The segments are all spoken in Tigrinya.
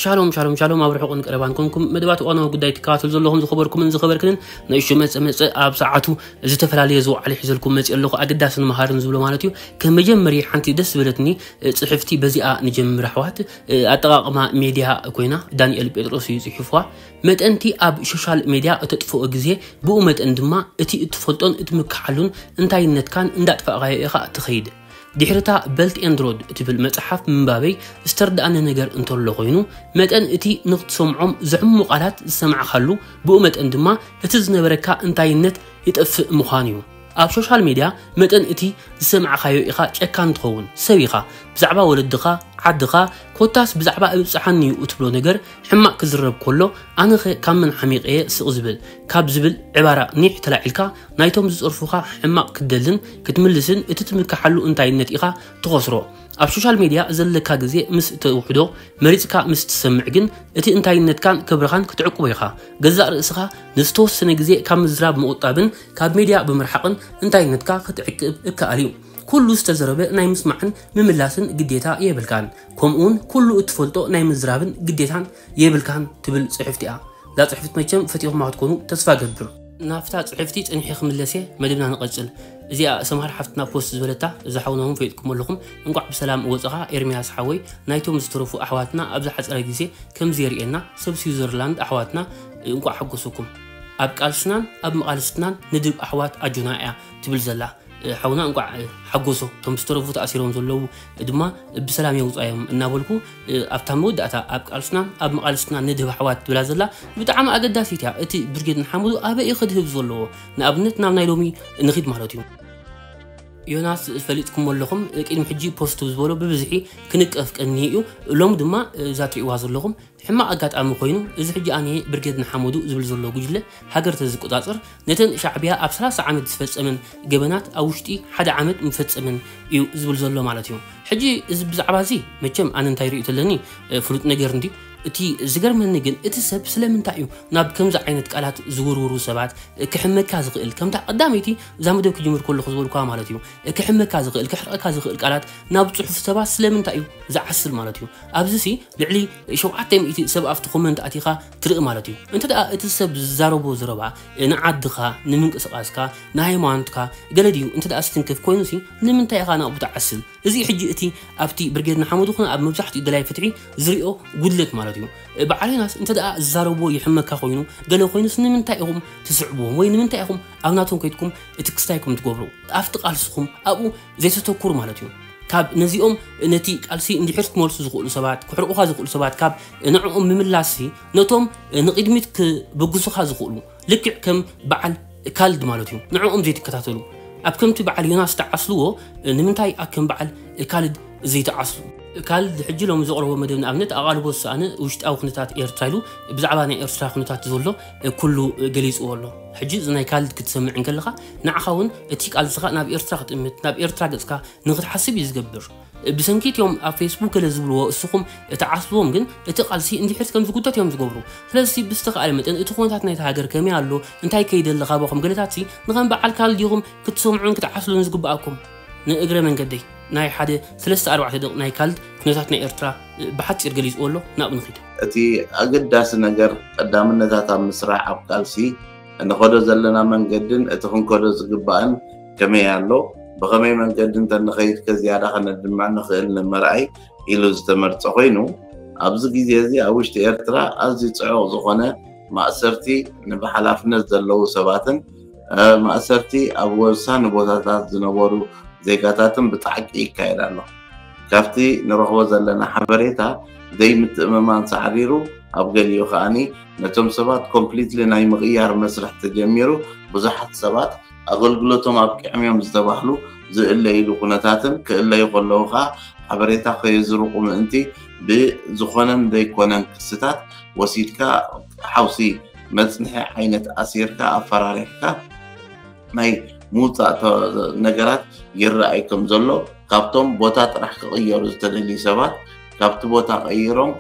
ሻሎም ሻሎም ሻሎም፣ ኣብ ርሑቕን ቀረባን ኮንኩም መደባት እዋናዊ ጉዳይ ትከታተሉ ዘለኹም ዝኸበርኩምን ዝኸበርክንን፣ ንእሹ መጸ መጸ ኣብ ሰዓቱ ዝተፈላለየ ዝወዓለ ሒዘልኩም መጺእ ኣለኹ። ኣገዳስን መሃርን ዝብሎ ማለት እዩ። ከም መጀመሪ ሓንቲ ደስ ዝበለትኒ ጽሕፍቲ በዚኣ ንጀምር ኣሕዋት። ኣጠቓቕማ ሜድያ ኮይና ዳንኤል ጴጥሮስ እዩ ጽሒፍዋ። መጠንቲ ኣብ ሶሻል ሜድያ እተጥፍኦ ግዜ፣ ብኡ መጠን ድማ እቲ እትፈልጦን እትምክሓሉን እንታይነትካን እንዳጥፋእካዮ ኢኻ እትኸይድ። ድሕርታ በልት ኤንድ ሮድ እትብል መጽሓፍ ምንባበይ ዝተርድኣኒ ነገር እንተሎ ኮይኑ፣ መጠን እቲ ንኽትሰምዖም ዘሕሙ ቃላት ዝሰማዕካሉ፣ ብኡ መጠን ድማ እቲ ዝነበረካ እንታይነት ይጠፍእ ምዃኑ እዩ። ኣብ ሶሻል ሜድያ መጠን እቲ ዝሰማዕካዮ ኢኻ ጨካን ትኸውን። ሰብ ኢኻ። ብዛዕባ ወለድኻ፣ ዓድኻ፣ ኮታስ ብዛዕባ እብጽሓኒ እዩ እትብሎ ነገር ሕማቕ ክዝረብ ከሎ፣ ኣነኸ ካብ መን ሓሚቐየ ስቕ ዝብል ካብ ዝብል ዕባራ ኒሕ ተላዒልካ፣ ናይቶም ዝጸርፉኻ ሕማቕ ክትደልን ክትምልስን እቲ ትምክሓሉ እንታይነት ኢኻ ትኸስሮ። ኣብ ሶሻል ሜድያ ዘለካ ግዜ ምስ ተውሕዶ መሪጽካ ምስ ትሰምዕ ግን፣ እቲ እንታይነትካን ክብርኻን ክትዕቅቦ ኢኻ። ገዛእ ርእስኻ ንዝተወሰነ ግዜ ካብ ምዝራብ ምቑጣብን ካብ ሜድያ ብምርሓቕን እንታይነትካ ክትዕቅብ እከኣል እዩ። ኩሉ ዝተዘረበ ናይ ምስማዕን ምምላስን ግዴታ የብልካን። ከምኡውን ኩሉ እትፈልጦ ናይ ምዝራብን ግዴታን የብልካን ትብል ጽሕፍቲ እያ። እዛ ጽሕፍቲ መቸም ፈቲኹማ ክትኮኑ ተስፋ ገብር። ናብታ ጽሕፍቲ ጸኒሐ ክምለስ እየ፣ መደብና ንቐጽል። እዚኣ ሰምሃር ሓፍትና ፖስት ዝበለታ፣ እዛ ሓውና እውን ፈሊጥኩም ኣለኹም። እንቋዕ ብሰላም ወጸኻ ኤርምያስ ሓወይ፣ ናይቶም ዝተረፉ ኣሕዋትና ኣብ ዝሓጸረ ግዜ ከም ዘርእየና፣ ሰብ ስዊዘርላንድ ኣሕዋትና እንቋዕ ሓጎሰኩም። ኣብ ቃልስናን ኣብ መቓልስትናን ንድብ ኣሕዋት ኣጆና እያ ትብል ዘላ። ሓውና እንቋዕ ሓጎሶ፣ እቶም ዝተረፉ ተኣሲሮም ዘለዉ ድማ ብሰላም የውጻዮም እናበልኩ፣ ኣብታ መወዳእታ ኣብ ቃልስና ኣብ መቓልስትና ንድህብ ኣሕዋት ትብላ ዘላ ብጣዕሚ ኣገዳሲት እያ። እቲ ብርጌድ ንሓመዱ ኣበይ እዩ ክድህብ ዘለዎ? ንኣብነት ናብ ናይ ሎሚ ንኺድ ማለት እዩ። ዮናስ ፈሊጥኩም ኣለኹም፣ ቅድሚ ሕጂ ፖስት ዝበሎ ብብዝሒ ክንቀፍ ቀኒ እዩ። ሎም ድማ እዛ ትሪእዋ ዘለኹም ሕማቕ ኣጋጣሚ ኮይኑ፣ እዚ ሕጂ ኣነ ብርጌድ ንሓመዱ ዝብል ዘሎ ጉጅለ ሃገር ተዝቆጻጸር፣ ነተን ሻዕብያ ኣብ ሰላሳ ዓመት ዝፈጸመን ገበናት ኣብ ውሽጢ ሓደ ዓመት ምፈጸመን እዩ ዝብል ዘሎ ማለት እዩ። ሕጂ እዚ ብዛዕባ እዚ መቸም ኣነ እንታይ ርእዩ ተለኒ፣ እ፣ ፍሉጥ ነገር እንድዩ። እቲ ዝገርመኒ ግን እቲ ሰብ ስለምንታይ እዩ ናብ ከምዚ ዓይነት ቃላት ዝውርውሩ ሰባት፣ እ፣ ክሕመካ ዝኽእል? ከምታ ቀዳመይቲ እዛ መደብ ክጅምር ከለኹ ዝበልኳ ማለት እዩ። እ፣ ክሕመካ ዝኽእል፣ ክሕርቐካ ዝኽእል ቃላት ናብ ጽሑፍ ሰባት ስለምንታይ እዩ ዝዓስል ማለት እዩ? ኣብዚ ሲ ልዕሊ ሸውዓተ ሚእቲ ሰብ ኣብቲ ኮመንት ኣቲኻ ትርኢ ማለት እዩ። እንተ ደኣ እቲ ሰብ ዝዛረቦ ዘረባ ንዓድኻ፣ ንምንቅስቓስካ፣ ንሃይማኖትካ ገለ ድዩ እንተ ደኣ ዝትንክፍ ኮይኑሲ ንምንታይ ኢኻ ናብኡ ትዓስል? እዚ ሕጂ እቲ ኣብቲ ብርጌድ ንሓመዱ ኾነ ኣብ መብዛሕትኡ ደላይ ፍትሒ ዝሪኦ ጉድለት ማለት እዩ። በዓል ዮናስ እንተ ደኣ ዝዛረብዎ ይሕመካ ኮይኑ፣ ገለ ኮይኑስ ንምንታይ ኢኹም ትስዕብዎም ወይ ንምንታይ ኢኹም ኣብ ናቶም ከይድኩም እቲ ክስታይኩም ትገብሩ? ኣብቲ ቃልስኹም ኣብኡ ዘይተተኩሩ ማለት እዩ። ካብ ነዚኦም ነቲ ቃልሲ እንድሕር ክመልሱ ዝኽእሉ ሰባት፣ ክሕርቑኻ ዝኽእሉ ሰባት፣ ካብ ንዕኦም ምምላስሲ ነቶም ንቕድሚት ክብግሱኻ ዝኽእሉ፣ ልክዕ ከም በዓል ካልድ ማለት እዩ፣ ንዕኦም ዘይትከታተሉ። ኣብ ከምቲ በዓል ዮናስ ተዓስልዎ፣ ንምንታይ ኣብ ከም በዓል ካልድ ዘይተዓስሉ? ካልድ ሕጂ ሎሚ ዘቕረቦ መደብ ንኣብነት ኣቓልቦ ዝሰኣነ ውሽጣዊ ኩነታት ኤርትራ ኢሉ ብዛዕባ ናይ ኤርትራ ኩነታት ዘሎ ኩሉ ገሊጽዎ ኣሎ። ሕጂ እዚ ናይ ካልድ ክትሰምዕ እንከለኻ ንዓኻ እውን እቲ ቃልስኻ ናብ ኤርትራ ክትእምት፣ ናብ ኤርትራ ገጽካ ንኽትሓስብ እዩ ዝገብር። ብሰንኪ እቲኦም ኣብ ፌስቡክ ገለ ዝብልዎ እስኹም እትዓስልዎም ግን እቲ ቃልሲ እንድሕር ከም ዝጉተት እዮም ዝገብሩ። ስለዚ ብዝተኻእለ መጠን እቲ ኩነታት ናይታ ሃገር ከመይ ኣሎ፣ እንታይ ከይደ ኣሎ ካባኹም ገለታትሲ ንኸም በዓል ካልድ ኢኹም ክትሰምዑን ክትዓስሉን ዝግብኣኩም። ንእግረ መንገደይ ናይ ሓደ ሰለስተ ኣርባዕተ ደቂቕ ናይ ካልድ ኩነታት ናይ ኤርትራ ብሓጺር ገሊጽዎ ኣሎ፣ ናብኡ ንኺድ። እቲ ኣገዳሲ ነገር ቀዳምነታት ኣብ ምስራሕ ኣብ ቃልሲ እንኸዶ ዘለና መንገድን እቲ ክንከዶ ዝግባእን ከመይ ኣሎ፣ ብኸመይ መንገዲ እንተንኸይድ ከ ዝያዳ ከነድምዕ ንኽእል ንምርኣይ ኢሉ ዝተመርጸ ኮይኑ፣ ኣብዚ ግዜ እዚ ኣብ ውሽጢ ኤርትራ ኣዝዩ ጽዑቕ ዝኾነ ማእሰርቲ፣ ንብሓላፍነት ዘለዉ ሰባትን፣ እ፣ ማእሰርቲ ኣብ ወሳኒ ቦታታት ዝነበሩ ዜጋታትን ብጣዕቂ ይካየድ ኣሎ። ካብቲ ንረኽቦ ዘለና ሓበሬታ ዘይምትእምማን ሳዕሪሩ፣ ኣብ ገሊኡ ከኣኒ ነቶም ሰባት ኮምፕሊትሊ ናይ ምቕያር መስርሕ ተጀሚሩ፣ ብዙሓት ሰባት ኣገልግሎቶም ኣብቂዖም እዮም ዝተባህሉ ዝእለይሉ ኩነታትን ክእለዩ ከለዉ ከኣ ሓበሬታ ከየዝርቑ ምእንቲ ብዝኾነን ዘይኮነን ክስታት ወሲድካ ሓውሲ መጽንሒ ዓይነት ኣሲርካ ኣፈራሪሕካ ናይ ምውጻእ ተ-፣ ነገራት ይረኣይ ከም ዘሎ፣ ካብቶም ቦታ ጥራሕ ክቕየሩ ዝተደልዩ ሰባት ካብቲ ቦታ ቀይሮም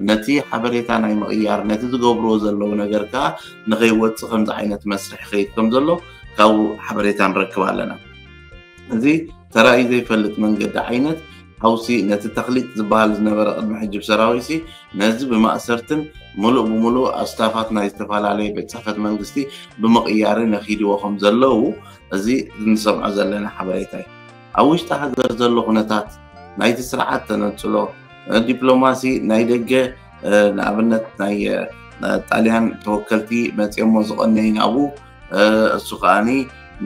ነቲ ሓበሬታ ናይ ምቕያር፣ ነቲ ዝገብርዎ ዘለዉ ነገር ከዓ ንኸይወፅእ ከምዚ ዓይነት መስርሕ ይኸይድ ከም ዘሎ ካብኡ ሓበሬታ ንረክብ ኣለና። እዚ ተራእዩ ዘይፈልጥ መንገዲ ዓይነት ሓውሲ ነቲ ተኽሊጥ ዝበሃል ዝነበረ ቅድሚ ሕጂ ብሰራዊትሲ ነዚ ብማእሰርትን ምሉእ ብምሉእ ኣብ ስታፋት ናይ ዝተፈላለየ ቤት ጽሕፈት መንግስቲ ብምቕያርን ነኺድዎ ከም ዘለዉ እዚ እንሰምዖ ዘለና ሓበሬታ እዩ። ኣብ ውሽጢ ሃገር ዘሎ ኩነታት ናይቲ ስርዓት ተነጽሎ፣ ዲፕሎማሲ ናይ ደገ ንኣብነት ናይ ጣልያን ተወከልቲ መፅኦሞ ዝቐነዩ ናብኡ እሱ ከዓኒ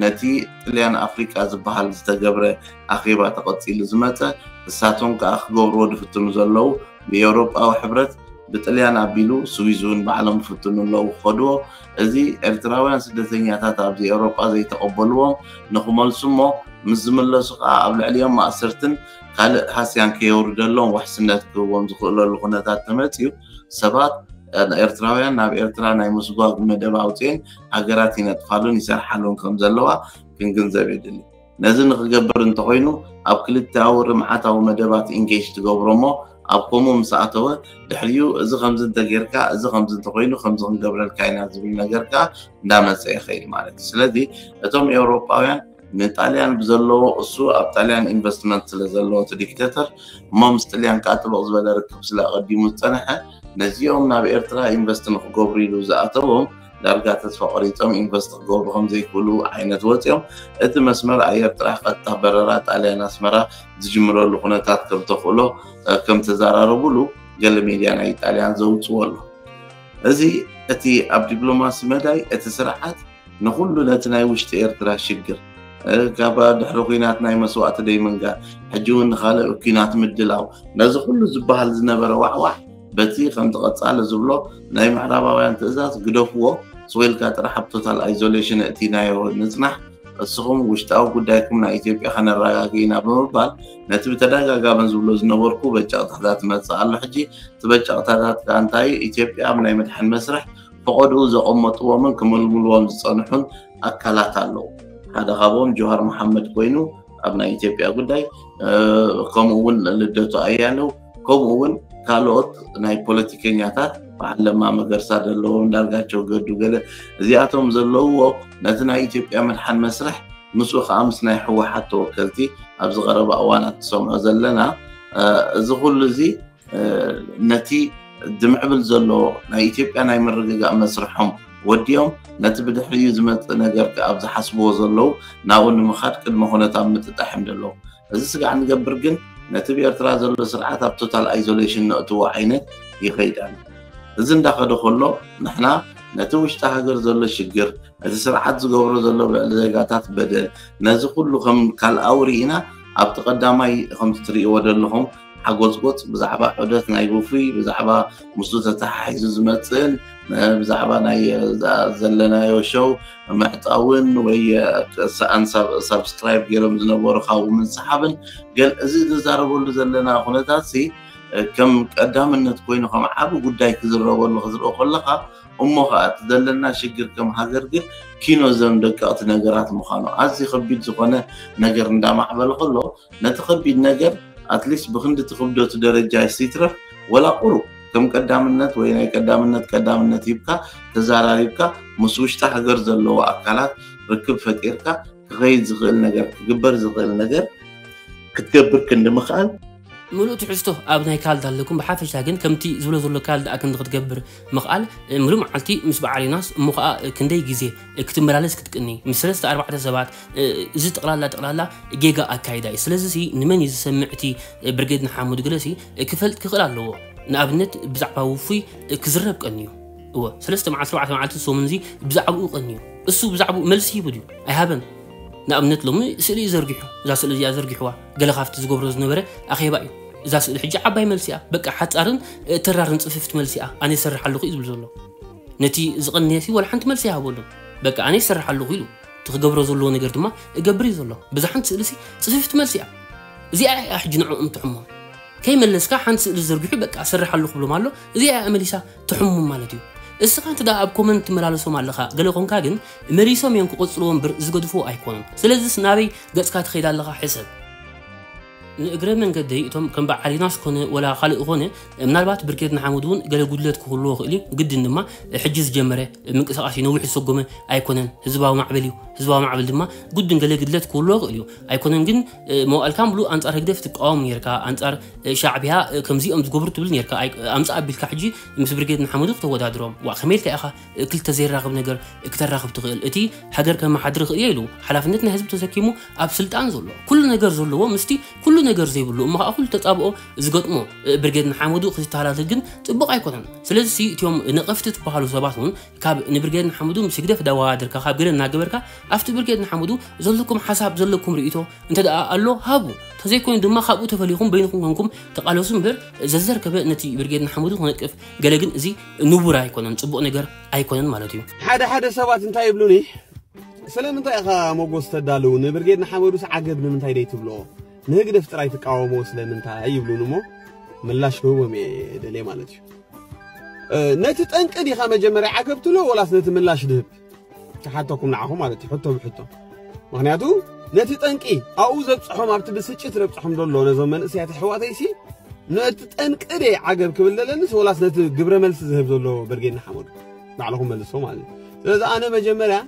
ነቲ ጥልያን ኣፍሪቃ ዝበሃል ዝተገብረ ኣኼባ ተቐፂሉ ዝመፀ እሳቶም ከዓ ክገብርዎ ዝፍትኑ ዘለዉ ብኤውሮጳዊ ሕብረት ብጥልያን ኣቢሉ ስዊዝ እውን ባዕሎም ይፍትኑ ኣለዉ ክኸድዎ እዚ ኤርትራውያን ስደተኛታት ኣብዚ ኤውሮጳ ዘይተቐበልዎም ንክመልሱ እሞ ምስ ዝምለሱ ከዓ ኣብ ልዕሊኦም ማእሰርትን ካልእ ሃስያን ከየውርደሎም ዋሕስነት ክህቦም ዝኽእለሉ ኩነታት ተመፅዩ ሰባት ኤርትራውያን ናብ ኤርትራ ናይ ምስጓግ መደብ ኣውፅኤን ሃገራት ይነጥፋሉን ይሰርሓሉን ከም ዘለዋ ክንግንዘብ የድሊ። ነዚ ንክገብር እንተኮይኑ ኣብ ክልተኣዊ ርምዓታዊ መደባት ኢንጌጅ ትገብሮ እሞ ኣብ ከምኡ ምስ ኣተወ ድሕሪኡ እዚ ከምዚ እንተጌርካ እዚ ከምዚ እንተኮይኑ ከምዚ ክንገብረልካ ኢና ዝብል ነገር ከዓ እንዳመፀ ይኸይድ ማለት እዩ። ስለዚ እቶም ኤውሮጳውያን ንጣልያን ብዘለዎ እሱ ኣብ ጣልያን ኢንቨስትመንት ስለ ዘለዎ እቲ ዲክቴተር እሞ ምስ ጥልያን ከዓ ጥብቕ ዝበለ ርክብ ስለ ኣቐዲሙ ዝፀንሐ ነዚኦም ናብ ኤርትራ ኢንቨስት ንክገብሩ ኢሉ ዝኣተዎም ዳርጋ ተስፋ ቆሪፆም ኢንቨስት ክገብሩ ከም ዘይክእሉ ዓይነት ወፂኦም እቲ መስመር ኣየር ጥራሕ ቀጥታ በረራ ጣልያን ኣስመራ ዝጅምረሉ ኩነታት ከም ተኽእሎ ከም ተዘራረቡሉ ገለ ሚድያ ናይ ጣልያን ዘውፅዎ ኣሎ። እዚ እቲ ኣብ ዲፕሎማሲ መዳይ እቲ ስርዓት ንኩሉ ነቲ ናይ ውሽጢ ኤርትራ ሽግር ካብ ድሕሪ ኩናት ናይ መስዋእቲ ደይ ምንጋር ሕጂ እውን ንካልእ ኩናት ምድላው ነዚ ኩሉ ዝበሃል ዝነበረ ዋዕዋዕ በቲ ከምቲ ቀጻሊ ዝብሎ ናይ ምዕራባውያን ትእዛዝ ግደፍዎ ስወ ኢልካ ጥራሕ ኣብ ቶታል ኣይዞሌሽን እእቲናዮ ንጽናሕ እስኹም ውሽጣዊ ጉዳይኩም ናይ ኢትዮጵያ ከነረጋግእ ኢና ብምባል ነቲ ብተደጋጋሚ ዝብሎ ዝነበርኩ በጫቕታታት ይመጽእ ኣሎ ሕጂ እቲ በጫቕታታት ከኣ እንታይ ኢትዮጵያ ኣብ ናይ ምድሓን መስርሕ ፈቐድኡ ዘቐመጥዎምን ክምልምልዎም ዝጸንሑን ኣካላት ኣለዉ። ሓደ ካብኦም ጆሃር መሓመድ ኮይኑ ኣብ ናይ ኢትዮጵያ ጉዳይ ከምኡ እውን ልደቱ ኣያሌው ከምኡ እውን ካልኦት ናይ ፖለቲከኛታት በዓል ለማ መገርሳ ዘለዎም እንዳርጋቸው ገዱ ገለ እዚኣቶም ዘለውዎ ነቲ ናይ ኢትዮጵያ ምድሓን መስርሕ ምስኡ ከዓ ምስ ናይ ህወሓት ተወከልቲ ኣብዚ ቀረባ እዋናት ትሰምዖ ዘለና እዚ ኩሉ እዚ ነቲ ዝምዕብል ዘሎ ናይ ኢትዮጵያ ናይ ምርግጋእ መስርሖም ወዲኦም ነቲ ብድሕሪኡ ዝመፅእ ነገር ኣብ ዝሓስብዎ ዘለዉ ናብኡ ንምኻድ ቅድመ ኩነታት ምጥጣሕ እዮም ዘለዉ። እዚ ስጋዕ ንገብር ግን ነቲ ብኤርትራ ዘሎ ስርዓት ኣብ ቶታል ኣይዞሌሽን ነእትዎ ዓይነት ይኸይድ ኣሎ። እዚ እንዳኸደ ከሎ ንሕና ነቲ ውሽጢ ሃገር ዘሎ ሽግር እቲ ስርዓት ዝገብሮ ዘሎ ብዕሊ ዜጋታት በደል ነዚ ኩሉ ከም ካልኣዊ ርኢና ኣብቲ ቀዳማይ ከምቲ ትርእይዎ ዘለኹም ሓጎፅጎፅ ብዛዕባ ዑደት ናይ ውፉይ ብዛዕባ ምስኡ ተተሓሒዙ ዝመፅእን ብዛዕባ ናይ ዘለናዮ ሸው ምዕፃውን ወይ ሰኣን ሳብስክራይብ ገይሮም ዝነበሩ ካብኡ ምንስሓብን ገል እዚ ንዛረበሉ ዘለና ኩነታት ሲ ከም ቀዳምነት ኮይኑ ከም ዓቢ ጉዳይ ክዝረበሉ ክዝረኦ ከለካ እሞ ከዓ እቲ ዘለና ሽግር ከም ሃገር ግን ኪኖ ዘም ደቀቕቲ ነገራት ምዃኑ ኣዝዩ ከቢድ ዝኾነ ነገር እንዳማዕበለ ከሎ ነቲ ከቢድ ነገር ኣትሊስት ብክንዲ እቲ ክብደቱ ደረጃ ይትረፍ ወላ ቁሩብ ከም ቀዳምነት ወይ ናይ ቀዳምነት ቀዳምነት ሂብካ ተዛራሪብካ ምስ ውሽጢ ሃገር ዘለዎ ኣካላት ርክብ ፈጢርካ ክኸይድ ዝኽእል ነገር ክግበር ዝኽእል ነገር ክትገብር ክንዲ ምኽኣል ምሉእ ትሕዝቶ ኣብ ናይ ካልድ ኣለኩም። ብሓፈሻ ግን ከምቲ ዝብሎ ዘሎ ካልድ ኣክንዲ ክትገብር ምኽኣል፣ ምሉእ መዓልቲ ምስ በዓል ዮናስ እሞ ኸዓ ክንደይ ግዜ ክትመላለስ ክትቅኒ፣ ምስ ሰለስተ ኣርባዕተ ሰባት፣ እዚ ጠቕላላ ጠቕላላ ጌጋ ኣካይዳ እዩ። ስለዚ ሲ ንመን እዩ ዝሰምዕ እቲ ብርጌድ ንሓመዱ ገለ ሲ ክፈልጥ ክኽእል ኣለዎ። ንኣብነት ብዛዕባ ውፉይ ክዝረብ ቀንዩ እወ ሰለስተ መዓልቲ ኣርባዕተ መዓልቲ ሰሙን እዚ ብዛዕባኡ ቀንዩ እሱ ብዛዕባኡ መልሲ ሂቡ ድዩ? ኣይሃበን። ንኣብነት ሎሚ ስእሊ እዩ ዘርጊሑ። እዛ ስእሊ እዚኣ ዘርጊሕዋ ገለ ካብቲ ዝገብሮ ዝነበረ ኣኼባ እዩ። እዛ ስእሊ ሕጂ ዓባይ መልሲ እያ። በቃ ሓጻርን ተራርን ጽፍፍቲ መልሲ እያ። ኣነ ይሰርሕ ኣለኹ እዩ ዝብል ዘሎ። ነቲ ዝቐነየሲ ዋላ ሓንቲ መልሲ ኣይሃበሉን። በቃ ኣነ ይሰርሕ ኣለኹ ኢሉ። እቲ ክገብሮ ዘለዎ ነገር ድማ እገብር እዩ ዘሎ። ብዛ ሓንቲ ስእሊ ሲ ጽፍፍቲ መልሲ እያ። እዚኣ እያ ሕጂ ንዕኦም ትሕሞም። ከይመለስካ ሓንቲ ስእሊ ዘርጊሑ በቃ እሰርሕ ኣለኹ ክብሎም ኣሎ። እዚኣ እያ መሊሳ ትሕሙም ማለት እዩ። እስኻ እንተ ደኣ ኣብ ኮመንት ትመላለሶም ኣለኻ ገለ ኮንካ ግን መሊሶም እዮም ክቕጽልዎ እምበር ዝገድፍዎ ኣይኮኑን። ስለዚስ ናበይ ገጽካ ትኸይድ ኣለኻ ሕሰብ። ንእግረ መንገደይ እቶም ከም በዓል ዮናስ ኮነ ወላ ካልእ ኮነ፣ ምናልባት ብርጌድ ንሓመዱ እውን ገለ ጉድለት ክህልዎ ይኽእል እዩ። ግድን ድማ ሕጂ ዝጀመረ ምንቅስቃስ እዩ፣ ነዊሕ ዝሰጎመ ኣይኮነን። ህዝባዊ ማዕበል እዩ። ህዝባዊ ማዕበል ድማ ግድን ገለ ጉድለት ክህልዎ ይኽእል እዩ። ኣይኮነን ግን፣ መዋእልካ ሙሉእ ኣንጻር ህግደፍ ትቃወም ነርካ፣ ኣንጻር ሻዕቢያ ከምዚኦም ዝገብሩ ትብል ነርካ። ኣይ-፣ ኣምጻእ ኣቢልካ ሕጂ ምስ ብርጌድ ንሓመዱ ክተወዳድሮም። ዋ፣ ከመይ ኢልካ ኢኻ ክልተ ዘይራኸብ ነገር ክተራኽብ ትኽእል? እቲ ሃገር ከመሓድር ክእል ኢሉ ሓላፍነት ናይ ህዝቢ ተሰኪሙ ኣብ ስልጣን ዘሎ፣ ኩሉ ነገር ዘለዎ ምስቲ ኩሉ ነገር ዘይብሉ እሞ ከዓ ኩሉ ተጻብኦ ዝገጥሞ ብርጌድ ንሓመዱ ክትተሃላልል ግን ጽቡቕ ኣይኮነን። ስለዚ እቲኦም ነቐፍቲ ትበሃሉ ሰባት እውን ካብ ንብርጌድ ንሓመዱ ምስ ህግደፍ ዳወዳደርካ ካብ ገለ እናገበርካ ኣብቲ ብርጌድ ንሓመዱ ዘለኩም ሓሳብ ዘለኩም ርእይቶ እንተ ደኣ ኣሎ ሃቡ፣ ተዘይኮይኑ ድማ ካብኡ ተፈሊኹም በይንኹም ኮንኩም ተቓለሱ እምበር ዘዘርከበ ነቲ ብርጌድ ንሓመዱ ክነቅፍ ገለ ግን እዚ ንቡር ኣይኮነን፣ ጽቡቕ ነገር ኣይኮነን ማለት እዩ። ሓደ ሓደ ሰባት እንታይ ይብሉኒ፣ ስለምንታይ ኢኻ መጎስ ተዳልው? ንብርጌድ ንሓመዱስ ዓገብ ንምንታይ ደይ ትብሎ? ንህግደፍ ጥራይ ትቃወሞ ስለምንታይ ይብሉኒ እሞ ምላሽ ክህቦም እየ ደልየ ማለት እዩ። እ፣ ነቲ ጠንቂ ዲኻ መጀመርያ ዓገብ ትብሎ ወላስ ነቲ ምላሽ ድህብ? ክሓተኩም ንዓኹም ማለት እዩ፣ ሕቶ ብሕቶ። ምኽንያቱ ነቲ ጠንቂ ኣብኡ ዘብጽሖም ኣብቲ ብስጭት ዘብጽሖም ዘሎ ነዞም መንእሰያት ኣሕዋተይሲ ነቲ ጠንቂ ደይ ዓገብ ክብል ደለንስ ወላስ ነቲ ግብረ መልሲ ዝህብ ዘሎ ብርጌድ ንሓመዱ? ባዕልኹም መልሶ ማለት እዩ። ስለዚ ኣነ መጀመርያ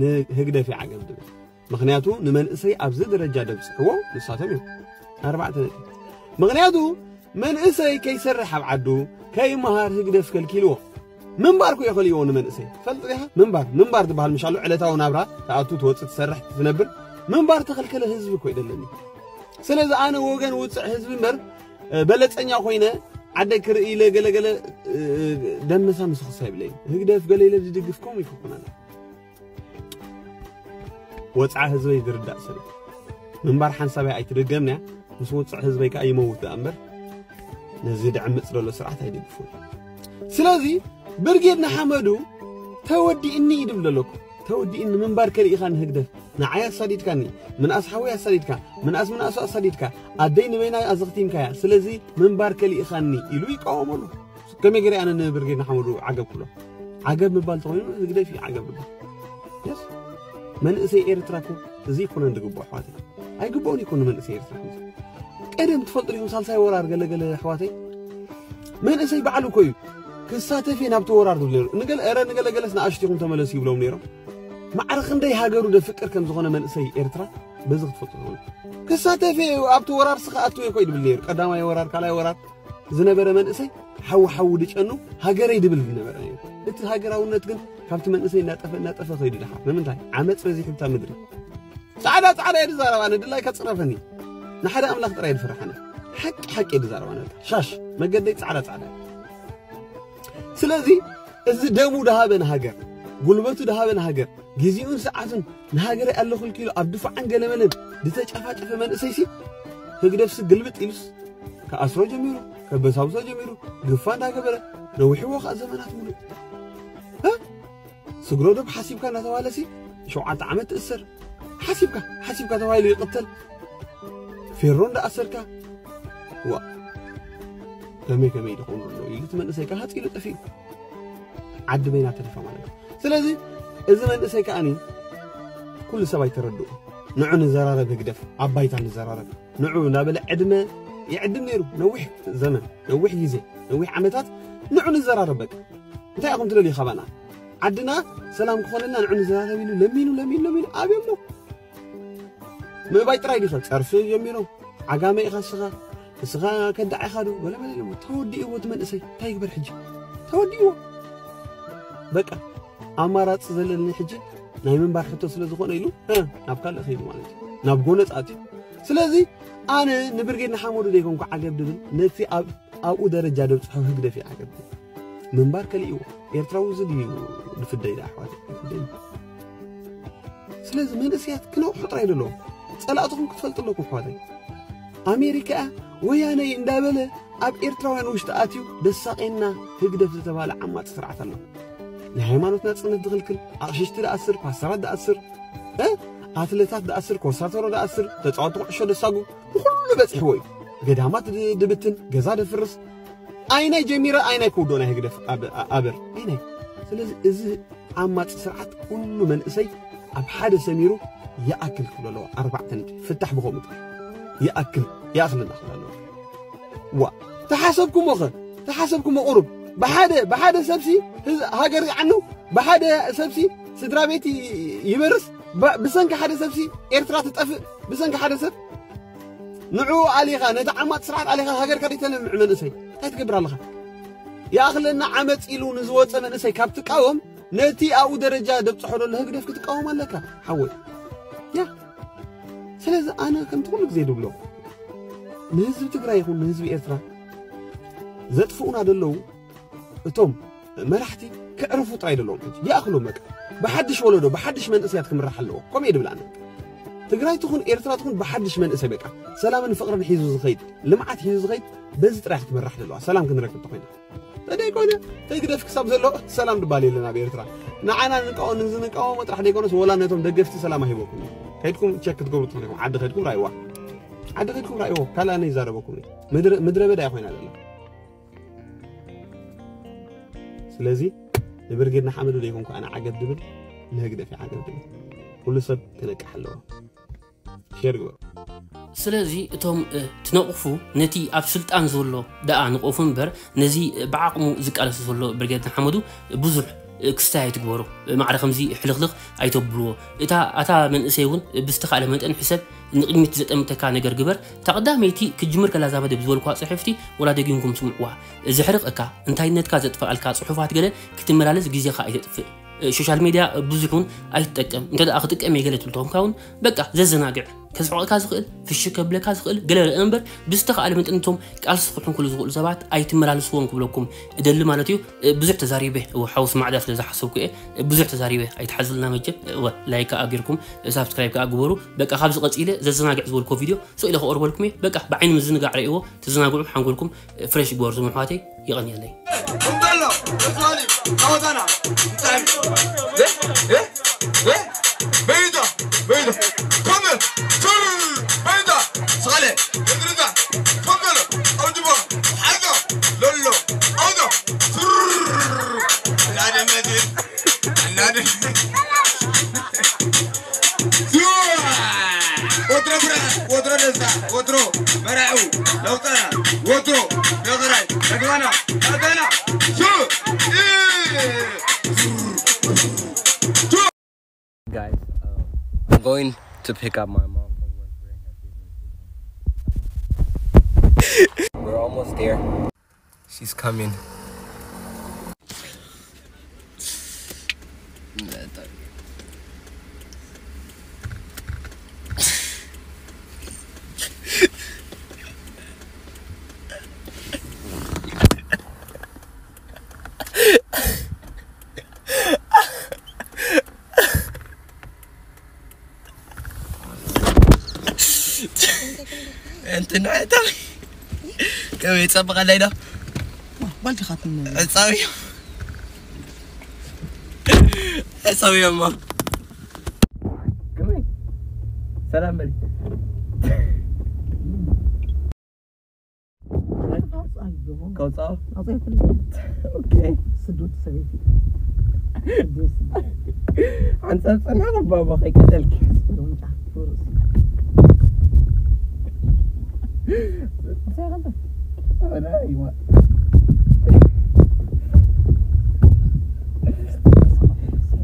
ንህግደፍ ይዓገብ ድብል። ምኽንያቱ ንመንእሰይ ኣብዚ ደረጃ ደብጽሕዎ ንሳቶም እዮም። ኣርባዕተ ነጥቢ። ምኽንያቱ መንእሰይ ከይሰርሕ ኣብ ዓዱ ከይመሃር ህግደፍ ከልኪልዎ። ምንባር እኮ የኸልይዎ ንመንእሰይ። ፈልጥ ዲኻ? ምንባር፣ ምንባር ዝበሃል ምሻሉ ዕለታዊ ናብራ ትኣቱ፣ ትወጽእ፣ ትሰርሕ፣ ትነብር። ምንባር ተኸልከለ ህዝቢ እኮ ይደለኒ። ስለዚ ኣነ ወገን ውጽዕ ህዝቢ እምበር፣ እ፣ በለጸኛ ኮይነ ዓደይ ክርኢ ኢለ ገለገለ፣ እ፣ ደመሳ ምስኽሳ ይብለይ። ህግደፍ ገለ ኢለ ዝድግፍ ከምኡ ይክኩን ኣነ። ወጽዓ ህዝበይ ዝርዳእ ሰብ እዩ። ምንባር ሓንሳብ እያ ኣይትድገምንያ፣ ምስ ውጽዕ ህዝበይ ከኣ ይመውት ደኣ እምበር፣ ነዚ ድዕምጽ ዘሎ ስርዓት ኣይድግፉን። ስለዚ ብርጌድ ንሓመዱ ተወዲእኒ ይድብል ዘለኩ። ተወዲእኒ ምንባር ከሊእኻ ንህግደፍ። ንዓይ ኣሳዲድካኒ፣ ምንኣስ ሓወይ ኣሳዲድካ፣ ምንኣስ ምንኣሱ ኣሳዲድካ፣ ኣደይ ንበይና ኣዘኽቲምካያ። ስለዚ ምንባር ከሊእኻኒ ኢሉ ይቃወመሉ። ከመይ ገይረ ኣነ ንብርጌድ ንሓመዱ ዓገብ ክብሎ? ዓገብ ምባል ተኾይኑ ህግደፍ እዩ ዓገብ ምባል። የስ። መንእሰይ ኤርትራ እኮ እዚ ይኮነን ዝግብኦ ኣሕዋተይ። ኣይግብኦን ይኮኑ መንእሰይ ኤርትራ ከምዚ። ቀደም ትፈልጡ ዲኹም ሳልሳይ ወራር ገለገለ ኣሕዋተይ? መንእሰይ ባዕሉ እኮ እዩ ክሳተፍ እየ ናብቲ ወራር ዝብል ነይሩ። ንገለ፣ ኧረ ንገለገለስ ንኣሽቱ ኢኹም ተመለሱ ይብሎም ነይሮም። ማዕረ ክንደይ ሃገሩ ደፍቅር ከም ዝኾነ መንእሰይ ኤርትራ በዚ ክትፈልጡ ትኽእሉ። ክሳተፍ እየ ኣብቲ ወራር ስኻ ኣትው እየ እኮ ይብል ነይሩ። ቀዳማይ ወራር፣ ካልኣይ ወራር ዝነበረ መንእሰይ ሓዊ ሓዊ ድጨኑ ሃገረይ ድብል ዝነበረ ነይሩ። እቲ ሃገራውነት ግን ካብቲ መንእሰይ እናጠፈ እናጠፈ ከይዱ ድሓር። ንምንታይ? ዓመፅ በዚሑ ብታ ምድሪ። ጻዕዳ ጻዕዳ እየ ዝዛረብ ኣነ፣ ድላይካ ጽረፈኒ። ንሓደ ኣምላኽ ጥራይ እየ ዝፈርሕ ኣነ። ሓቂ ሓቂ እየ ዝዛረብ ኣነ። ሻሽ መገደይ ጻዕዳ ጻዕዳ እየ። ስለዚ እዚ ደሙ ድሃበ ንሃገር፣ ጉልበቱ ድሃበ ንሃገር፣ ግዜኡን ሰዓቱን ንሃገረይ ኣለኹልኪ ኢሉ ኣብ ድፋዓን ገለመለን ዝተጨፋጨፈ መንእሰይሲ ህግደፍሲ ግልብጥ ኢሉስ ክኣስሮ ጀሚሩ፣ ከበሳብሶ ጀሚሩ፣ ግፋ እንዳገበረ ነዊሕዎ ከዓ ዘመናት ሙሉእ። እ? ስግረ ዶብ ሓሲብካ እናተባህለሲ ሸውዓተ ዓመት ትእሰር። ሓሲብካ፣ ሓሲብካ ተባሂሉ ይቕተል። ፌሮ እንዳኣሰርካ። ዋ። ከመይ ከመይ ድኸውን ዘሎ ኢሉ እቲ መንእሰይ ከዓ ሃፂሉ ጠፊኡ። ዓዲ በይና ተረፋ ማለት እዩ። ስለዚ እዚ መንእሰይ ከዓኒ ኩሉ ሰብ ኣይተረድኡ። ንዑ ንዘራረብ ህግደፍ፣ ኣብ ባይታ ንዘራረብ። ንዑ እናበለ ዕድመ ይዕድም ነይሩ። ነዊሕ ዘመን፣ ነዊሕ ግዜ፣ ነዊሕ ዓመታት ንዑ ንዘራረብ በቃ። እንታይ ኢኹም ትደልዩ ካባና? ዓድና ሰላም ክኾነልና ንዑ ንዘራረብ ኢሉ ለሚኑ፣ ለሚኑ፣ ለሚኑ ኣብዮሞ። ምእባይ ጥራይ ዲኸ? ጸርፊ ጀሚሮም። ዓጋመ ኢኻ እስኻ፣ እስኻ ከዳዕ ኢኻ ዶ? ገለ መለ ኢሎሞ። ተወዲእዎ እቲ መንእሰይ። እንታይ ይግበር ሕጂ? ተወዲእዎ። በቃ ኣማራጺ ዘለኒ ሕጂ ናይ ምንባር ሕቶ ስለ ዝኾነ ኢሉ፣ እ፣ ናብ ካልእ ከይዱ ማለት እዩ። ናብ ጎነጽ ኣትዩ። ስለዚ ኣነ ንብርጌድ ንሓመዱ ዘይኮንኩ ዓገብ ድብል፣ ነቲ ኣብ፣ ኣብኡ ደረጃ ደብጽሖ ህግደፍ እዩ ዓገብ ድብል። ምንባር ከሊእዎ። ኤርትራዊ እዚ ድዩ ዝፍደይ ደኣ ኣሕዋተይ? ይፍደይ። ስለዚ መንእሰያት ክነቕሑ ጥራይ ደለዎም። ጸላእትኹም ክትፈልጡ ኣለኩም ኣሕዋተይ። ኣሜሪካ ወያነይ እንዳበለ ኣብ ኤርትራውያን ውሽጢ ኣትዩ ደሳቄና ህግደፍ ዝተባህለ ዓማጺ ስርዓት ኣሎ። ናይ ሃይማኖት ናጽነት ዝኽልክል፣ ኣቕሽሽቲ ደኣስር፣ ፓስተራት ደኣስር፣ እ? ኣትለታት ደኣስር፣ ኮሳተሮ ደኣስር፣ ተጻወቲ ኩዕሾ ደሳጉ፣ ንኹሉ በጺሕዎ እዩ። ገዳማት ድ-፣ ድብትን፣ ገዛ ደፍርስ። ኣይናይ ጀሚረ፣ ኣይናይ ክውዶ ናይ ህግደፍ ኣብ-፣ ኣ-፣ ኣበር። ኣይናይ። ስለዚ እዚ ዓማጺ ስርዓት ኩሉ መንእሰይ ኣብ ሓደ ሰሚሩ ይኣክል ክብሎ ኣለዎ። ኣርባዕተ ነጥቢ። ፍታሕ ብኸምኡ ጥራይ። ይኣክል። ይኣኽለና ክብል ኣለዎ። ዋ፣ ተሓሰብኩሞ ኸ? ተሓሰብኩሞ ቁሩብ? ብሓደ፣ ብሓደ ሰብሲ ህዝ-፣ ሃገር ይዓኑ፣ ብሓደ ሰብሲ ስድራ ቤት ይ-፣ ይበርስ፣ ብ-፣ ብሰንኪ ሓደ ሰብሲ ኤርትራ ትጠፍእ፣ ብሰንኪ ሓደ ሰብ ንዕኡ ኣሊኻ፣ ነቲ ዓማጽ ስርዓት ኣሊኻ ሃገርካ ደይተልምዕ መንእሰይ፣ እንታይ ትገብር ኣለኻ? ይኣኽለና ዓመጽ ኢሉ ንዝወጸ መንእሰይ ካብ ትቃወም፣ ነቲ ኣብኡ ደረጃ ደብጽሖ ዘሎ ህግደፍ ክትቃወም ኣለካ፣ ሓወይ። ያ። ስለዚ ኣነ ከምቲ ኩሉ ግዜ ድብሎ፣ ንህዝቢ ትግራይ ይኹን ንህዝቢ ኤርትራ ዘጥፍኡና ዘለዉ እቶም መራሕቲ ክዕርፉ ጥራይ ዘለዎም ሕጂ። ይኣኽሎም በቃ። ብሓድሽ ወለዶ፣ ብሓድሽ መንእሰያት ክምራሕ ኣለዎ። ከምኡ እየ ድብል ኣነ። ትግራይ ትኹን ኤርትራ ትኹን ብሓድሽ መንእሰይ በቃ። ሰላምን ፍቕርን ሒዙ ዝኸይድ፣ ልምዓት ሒዙ ዝኸይድ፣ በዚ ጥራይ ክትምራሕ ዘለዋ። ሰላም ክንረክብ ተኾይና። ተደይኮነ፣ ተይ ግደፍ ክሳብ ዘሎ ሰላም ድባል የለን ኣብ ኤርትራ። ንዓና ንቃወም፣ ንዝንቃወሞ ጥራሕ ደይኮነስ ወላ ነቶም ደገፍቲ ሰላም ኣይህበኩም እዩ። ከይድኩም ቸክ ክትገብሩ ትኽእሉ ኢኹም። ዓዲ ከይድኩም ራእይዋ። ዓዲ ከይድኩም ራእይዎ። ካልእ ኣነ ይዛረበኩም እዩ። ምድረ፣ ምድረ በዳ እያ ኮይና ዘላ። ስለዚ ንብርጌድ ንሓመዱ ደይኮንኩ ኣነ ዓገብ ድብል፣ ንህግደፍ እዩ ዓገብ ድብል። ኩሉ ሰብ ክነቅሕ ኣለዎ። ሼር ግበሩ። ስለዚ እቶም፣ እ፣ ትነቕፉ ነቲ ኣብ ስልጣን ዘሎ ደኣ ንቐፉ እምበር ነዚ፣ እ፣ ብዓቕሙ ዝቃለስ ዘሎ ብርጌድ ንሓመዱ ብዙሕ፣ እ፣ ክስታይ ኣይትግበሩ። እ፣ ማዕረ ከምዚ ሕልኽልኽ ኣይተብልዎ። እታ፣ ኣታ መንእሰይ እውን ብዝተኻእለ መጠን ሕሰብ፣ ንቕድሚት ዘጠምተካ ነገር ግበር። እታ ቀዳመይቲ ክጅምር ከላ እዛ መደብ ዝበልኩዋ ጽሕፍቲ ወላ ደጊምኩም ስምዕዋ። ዘሕርቐካ፣ እንታይነትካ ዘጥፍኣልካ ጽሑፋት ገለ ክትመላለስ ግዜኻ ኣይተጥፍእ። እ፣ ሶሻል ሜድያ ብዙሕ እውን ኣይትጠቀም። እንተ ደኣ ክጥቀም እየ ገለ ትብል ተኾንካ እውን፣ በቃ፣ ዘዘናግዕ፣ ከስሕቐካ ዝኽእል፣ ፍሽክ ከብለካ ዝኽእል ገለ ርእ እምበር፣ ብዝተኻእለ መጠን እቶም ቃልሲ ክሕንክሉ ዝኽእሉ ሰባት ኣይትመላልስዎም ክብለኩም እደሊ ማለት እዩ። እ፣ ብዙሕ ተዛሪበ፣ እወ፣ ሓውስ ማዕዳ ስለ ዝሓሰብኩ እየ። እ፣ ብዙሕ ተዛሪበ፣ ኣይትሓዝልና መቸም። እወ፣ ላይክ ከኣ ጌርኩም፣ እ፣ ሳብስክራይብ ከኣ ግበሩ። በቃ፣ ካብዚ ቀጺለ ዘዘናግዕ ዝበልኮ ቪድዮ ስቕ ኢለ ከቕርበልኩም እየ። በቃ፣ ብዓይኒ ምዝንጋዕ ርእይዎ፣ ተዘናግዑ፣ ሓንጎልኩም፣ እ፣ ፍሬሽ ግበሩ፣ ዝም ኣሕዋተይ። የቐንየለይ። እንተሎ፣ ተዝዋሊ፣ ጣዖታና፣ እንታይ? እ? እ? እ? በይታ፣ በይታ፣ ኮመ፣ ቱር፣ በይታ፣ ስኻለ፣ እድርታ፣ ኮመሎ፣ ኣውጅቦ፣ ሓልዶ፣ ሎሎ፣ ኣውዶ፣ ቱር፣ እናደመድን፣ እናደመድን። ወትሮ ብርሃን፣ ወትሮ ደስታ፣ ወትሮ መራዑ ለውጠና፣ ወትሮ ነግራይ ነግራና፣ ነግራና። ሹ! ኢ! Guys, uh, I'm going to pick up my mom from work. We're almost there. She's coming. እንትን ዕጣዊ ከመይ ይጸብቐለይ ዶ? ጓል ዲኻ ትምነ? ዕጻዊ። ዕጻዊ እሞ። ከመይ? ሰላም በል። ከውጻኦ? ኦኬ። ስዱድ ሰበይቲ። ሓንሳብ ጸንሐ ባባ ከይቀተልኪ።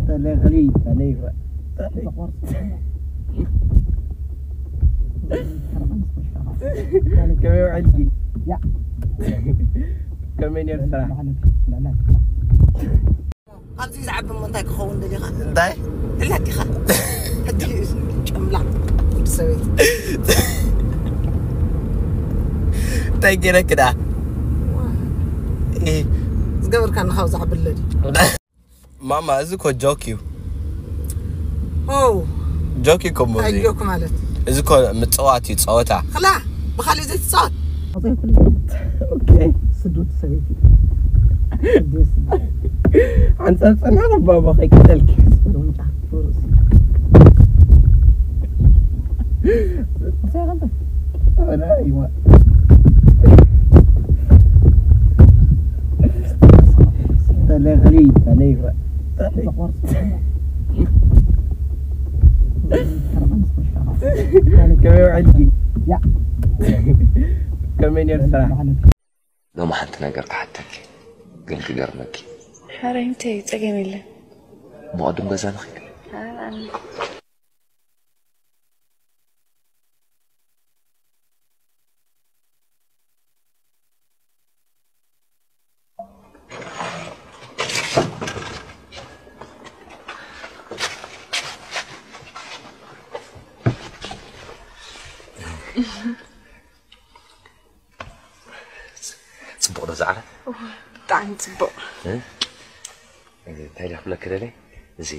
ተለኽሊ፣ ተለይፈ። ከመይ ውዕልኪ? ከመይ ነይሩ ስራሕ? ካብዚ ዝዓቢ እሞ እንታይ ክኸውን ደሊኻ? እንታይ? እላ ዲኻ? ሕጂ ጨምላ ወዲ ሰበይቲ። እንታይ ገይረኪ ደኣ? ዋ። እ። ዝገበርካኒ ካብዚ ዓብለዲ። ማማ፣ እዚ እኮ ጆክ እዩ። ኦ። ጆክ እዩ እኮ እሞ እዚ። እንታይ ጆክ ማለት? እዚ እኮ ምጽዋት እዩ፣ ጸወታ። ክላ፣ ብኻልእ ዘይትጻወት? ኦኬ። ስዱድ ሰበይቲ። ሓንሳብ ጸንሐ ባባ ከይቀተልኪ። ተለኽሊ፣ ተለይፈ። ከመይ ውዕልኪ? ከመይ ነይሩ ስራሕ? ሎሚ ሓንቲ ነገር ክሓተኪ፣ ግን ክገርመኪ። ሓራይ፣ እንታይ እዩ? ጸገም የለን። ብቐደም ገዛ ንኺድ። ጽቡቕ ዶ ዝዓረ? እወ፣ ብጣዕሚ ጽቡቕ። እ? እንታይ ኢለ ክብለኪ ደልየ? እዚ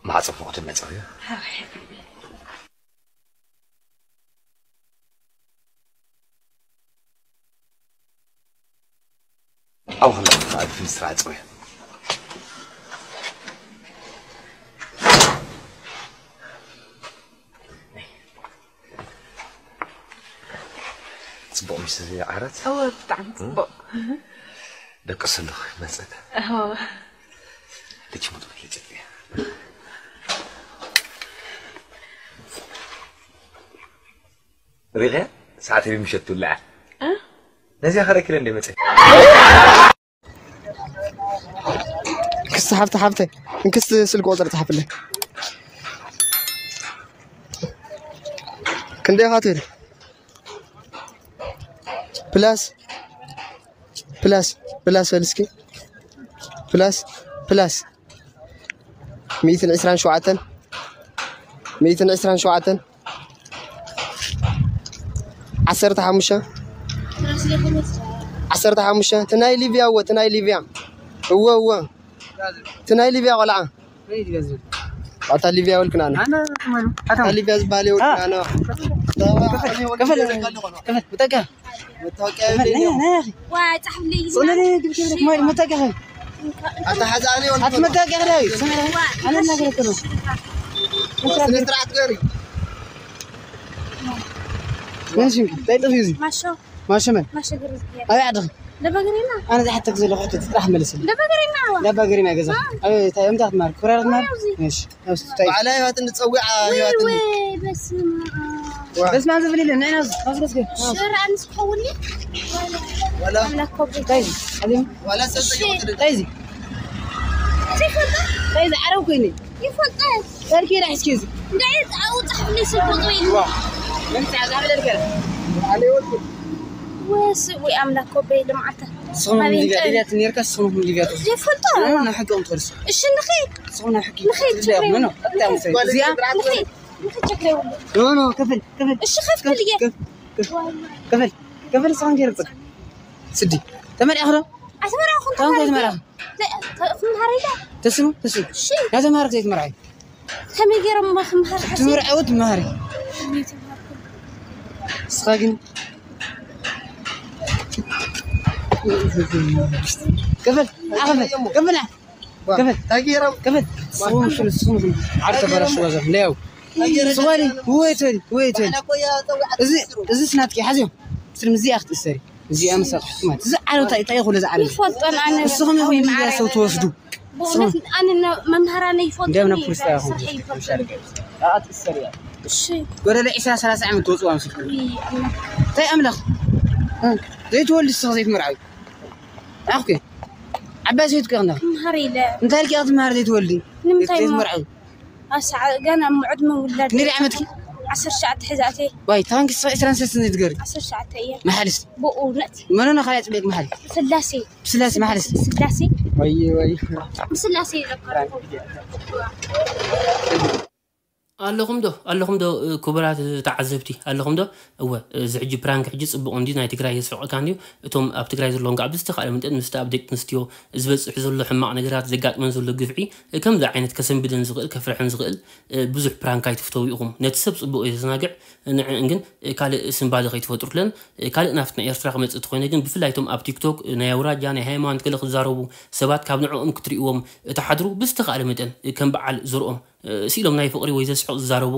ማዕጾ ፍቑድ መጸው እዩ። ሓራይ። ኣብኡ ከለኹ ከዓ ፍንስትራ ዕጸው እየ። ጽቡቕ ምሽ ዓራት? እወ፣ ብጣዕሚ ጽቡቕ። ደቂ ሰለኹ ይመጸት። እወ። ልጅ ሙጥ ልጅ እያ። ሪቕያ ሰዓት ምሸት ትውልዓ። እ? ነዚያ ከረኪለ እንደ መጸ። ክስቲ ሓፍተ ሓፍተ፣ እንክስቲ ስልክ ቁጽሪ ጸሓፍለይ። ክንደይ ኢኻ ትብል? ፕላስ፣ ፕላስ፣ ፕላስ በል እስኪ። ፕላስ፣ ፕላስ። ሚእትን ዕስራን ሸውዓተን፣ ሚእትን ዕስራን ሸውዓተን፣ ዓሰርተ ሓሙሽተ፣ ዓሰርተ ሓሙሽተ፣ እቲ ናይ ሊብያ እወ፣ እቲ ናይ ሊብያ። እወ፣ እወ። እቲ ናይ ሊብያ ቆልዓ። ኣታ ሊብያ ወልክና ነው። ኣታ ሊብያ ዝበሃል የወልክና ነው። ከፈል፣ ከፈል፣ ብጠጋ። መታወቂያ የለኝም። ዋ፣ ጻሕፍለይ። ጽለለ ግብ ግብ ማይ መታወቂያ ኸ? ኣታ ሓዛ ኣለ ወልክና። ኣታ መታወቂያ ኸ? ስምዕ፣ ኣነ እናገረኩ ነው። ስነ ስርዓት ገሪ። መን ሽምኪ? እንታይ ጥፊ እዚ? ማሾ። ማሾ መን? ማሾ ገርዝ። ኣበይ ዓድኺ? ለበገሪና። ኣነ ዝሓተክ ዘለኹ ሕቶ ጥራሕ መልስልኝ። ለበገሪና። ለበገሪና ገዛ። ኣበይ፣ እንታይ፣ እንታይ ክትማር? ኮራር ክትማር? ኣብዚ። እሺ። በዓል ህይወትን ንጸዊዓ ወይ ህይወትን። ወይ፣ በስመ ኣብ። በስመ ኣብ ዝብል የለን። ንዕና ኣብዚ፣ ኣብዚ ገዝገ። ሽረ ኣንስ ክኸውን ድዩ? ወላ ኣምላክ ኮቦ። እንታይ እዚ? ኣዚም? ወላ ሰብ እሺ። ዘይወደደ። እንታይ እዚ? ዘይፈልጦ? እንታይ እዚ? ዓረብ ኮይኑ። ይፈልጦ። ሰርኪ ራሕስኪ እዚ። እንታይ ኣብኡ ጻሕፍለይ ስልክ ቁጽሪ ኢሉ። ዋ። ምን ጻ-፣ ጻሕፍለይ ልከ? ኣለ ይወልኩ። ወስ-፣ ወይ ኣምላክ ኮቦ ልምዓተ። ስኹም ኣበይ ሊብያ፣ እንታይ? ሊብያ ትኔርካ ስኹም ሊብያ ትወስዱ። ዘይፈልጦ። ኖ፣ ኖ፣ ሕጊ እዮም ትወርሱ። እሺ፣ ንኸይድ። ስኹም ናይ ሕጊ። ንኸይድ፣ ትብልያ፣ ችግር ኖ፣ ኖ፣ የብሉን። ቀጥታ ምሰ-፣ ንኸይድ። እዚኣ ንኸይድ፣ ንኸይድ፣ ችግር የብሉን። ኖ፣ ኖ፣ ክፍል፣ ክፍል። እሺ፣ ከፍል ክፍል፣ እየ። ክፍል፣ ክፍል። ክፍል፣ ክፍል፣ ስኹም ገይሩ ጽቅ። ስዲ። ተመሪዕኺ ዶ? ኣስመራ እኹም ታንጎ ተመሪዕኺ። ተመራ። ተ-፣ ተ-፣ እኹም ተመሪዕኺ ዶ? ተስሙ፣ ተስሙ። እሺ። ናተማረክ ዘይትመርዓይ። ከመይ ገይሮም እሞ ክምሃር ሓሲብ? ትምርዐው ትምሃሪ። ከመይ ትምሃር? ንስኻ ግን ክፈል፣ ኣ፣ ክፈል፣ ክፈል፣ ኣ። ክፈል። እንታይ ገይሮም? ክፈል። ስኹም፣ ስኹም፣ ስኹም፣ ስኹም። ዓርሰ በራሽ ዋዛ፣ ለያው። እንታይ ገይሮም? ስኹም፣ ወይ ትበሊ፣ ወይ ትበሊ። እዚ፣ እዚ ስናትኪ፣ ሓዝዮ። ስልም እዚኣ ክትእሰሪ። እዚኣ ምሳኻ ሕክማት። እዚ ዓረብ እንታይ፣ እንታይ ይኹን እዚ ዓረብ? ይፈልጦን ኣነ ንስኹም ኢኹም ወይ ሊብያ ማዕረ። ሰብ ትወስዱ። ብእውነት ኣነ ነ-፣ መምሃራነ ይፈልጡ እንዲያም ናብ እዩ፣ ፖሊስ ጣብያ ስራሕ ኹም ይፈልጡ። ኣኣ፣ ትእሰር እያ። እሺ። ጎደለ ዒስራ ሰላሳ ዓመት ትወፅዋ ምስልኩም። ውይ፣ ኣምላኽ። እንታይ ኣምላኽ? እ፣ ዘይትወልድ ንስኻ ዘይትመርዓዊ። ኣኹ ዓባይ ሰበይቲ እኮ ኢኽና። ክምሃር ኢለ። እንታይ ኢልኪ ኢኻ ትምሃር ዘይትወልዲ? ንምንታይ እሞ? ዘይትመርዓዊ? ኣሰዓ-፣ ገና ምዑድ ምውላድ። ክንደይ ዓመትኪ? ዓሰርተ ትሽዓተ ሒዛ ኣትየ። ዋይ፣ ታንኪ ስቕ ዕስራን ሰለስተን ዘይትገሪ። ዓሰርተ ትሽዓተ እየ። መሓልስ? ብእውነት። መኖ ካልያ ጽቤክ መሓል? ስላሴ። ስላሴ መሓልስ? ስላሴ። ወይ፣ ወይ። ብስላሴ እዩ ዘካረኩ። ኣለኹም ዶ? ኣለኹም ዶ? ክቡራት ተዓዘብቲ፣ ኣለኹም ዶ? እወ፣ እዚ ሕጂ ፕራንክ ሕጂ ጽቡቕ እንድዩ፣ ናይ ትግራይ የስሕቐካ እንድዩ። እቶም ኣብ ትግራይ ዘለዉ ከዓ ብዝተኻእለ መጠን ምስቲ ኣብ ደቂ ኣንስትዮ ዝበጽሕ ዘሎ ሕማቕ ነገራት፣ ዘጋጥመን ዘሎ ግፍዒ፣ ከምዚ ዓይነት ከሰንብደን ዝኽእል፣ ከፍርሐን ዝኽእል፣ እ፣ ብዙሕ ፕራንክ ኣይትፍተው ኢኹም። ነቲ ሰብ ጽቡቕ እዩ ዘዘናግዕ፣ ንዕን ግን፣ እ፣ ካልእ ስንባደ ከይትፈጥሩለን። እ፣ ካልእ ናፍቲ ናይ ኤርትራ ክመጽእ እንተኾይነ ግን፣ ብፍላይ እቶም ኣብ ቲክቶክ፣ እ፣ ናይ ኣውራጃ፣ ናይ ሃይማኖት ገለ ክዛረቡ ሰባት ካብ ንዕኦም ክትርእይዎም እትሓድሩ፣ ብዝተኻእለ መጠን፣ እ፣ ከም በዓል ዘርኦም ስኢሎም ናይ ፍቕሪ ወይ ዘስሕቕ ዝዛረቡ፣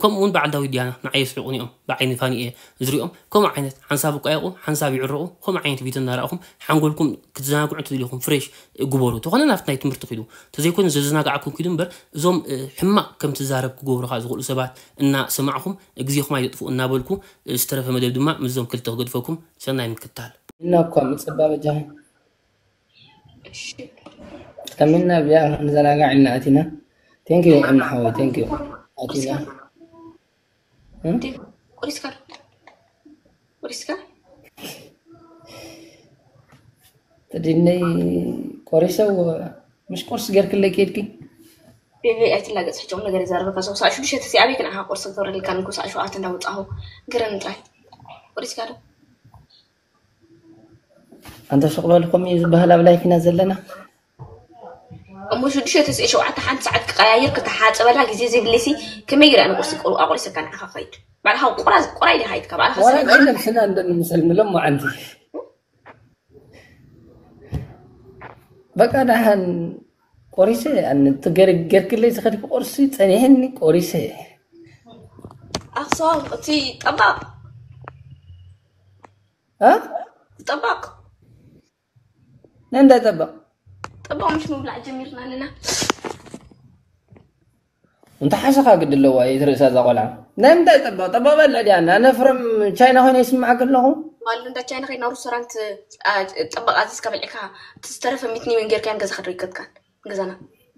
ከምኡ እውን በዓል ዳዊት ዲያና ንዓይ የስሕቑኒ እዮም። ብዓይኒ ፋኒ እየ ዝሪኦም። ከምኡ ዓይነት ሓንሳብ ይቋየቑ፣ ሓንሳብ ይዕረቑ። ከምኡ ዓይነት ቪድዮ እናረኣኹም ሓንጎልኩም ክትዘናግዑ እንተደሊኹም ፍሬሽ ግበሩ። ተኾነ ናብቲ ናይ ትምህርቲ ኪዱ፣ ተዘይኮይኑ ዘዘናግዓኩም ኪዱ እምበር፣ እዞም ሕማቕ ከም ትዛረብ ክገብሩኻ ዝኽእሉ ሰባት እናሰማዕኹም ግዜኹም ኣይተጥፍኡ እናበልኩ፣ ዝተረፈ መደብ ድማ ምስዞም ክልተ ክገድፈኩም። ሰናይ ምክታል። እና እኳ ምጽባ በጃኻ። ከሚና ቢያ ንዘናጋዕ ኢልና ኣቲና። Thank you እምኒ ሓወይ፣ thank you። ኣቲና። ቁሪስካ ቁሪስካ ተዲነይ ቆሪሰው። ምሽ ቁርስ ገርክለይ ከድኪ? ቤቢ ኣይትላገጽ፣ ሕጂ ቁም ነገር ይዛረበካ። ሰው ሳዕ ሽዱሽተ ተሲኣ ቤት ንዓኻ ቁርሲ ክገብረልካ ንኩ ሳዕ ሸውዓተ እንዳወጻኹ ግረን ጥራይ። ቁሪስካ ዶ? ኣንተ ስቕ በል፣ ከምኡ እዩ ዝበሃል ኣብ ላይፍ ኢና ዘለና። እሞ ሽዱሽተ ተስዒ ሸውዓተ ሓንቲ ሰዓት ክቀያይር ክተሓጸበላ ግዜ ዘይብለሲ ከመይ ገይረ ኣነ ቁርሲ ቁሩ ኣቁሪሰካ ንዓኻ ኸይድ ባዕልኻ ቁራ ቁራይ ዲኻ ኢትካ ባዕልኻ ዋላ ሰብ ግን ነብስና እንደንምሰል ምሎም መዓንቲ በቃ ደሓን ቆሪሰ ኣነ ትገር ገርክለይ ዝኸድኩ ቁርሲ ጸኒሕኒ ቆሪሰ ኣኽሶም እቲ ጠባቕ እ ጠባቕ ነንዳ ጠባቕ ጠባቕ ምሽ ምብላዕ ጀሚርና ኣለና። እንተ ሓሰኻ ግዲ ኣለዋ እየ ትርእሳ እዛ ቆልዓ ናይ ምንታይ ጠባቕ ጠባቕ በልዕ ድያ እና ነፍረም ቻይና ኮይነ ይስምዓክ ኣለኹ ባሉ እንዳ ቻይና ከይና ሩስቶራንት ጠባቕ ኣዚዝካ በልዕካ እቲ ዝተረፈ ሚትኒ ምን ጌርካን ገዛኻ ዶ ይከትካን ገዛና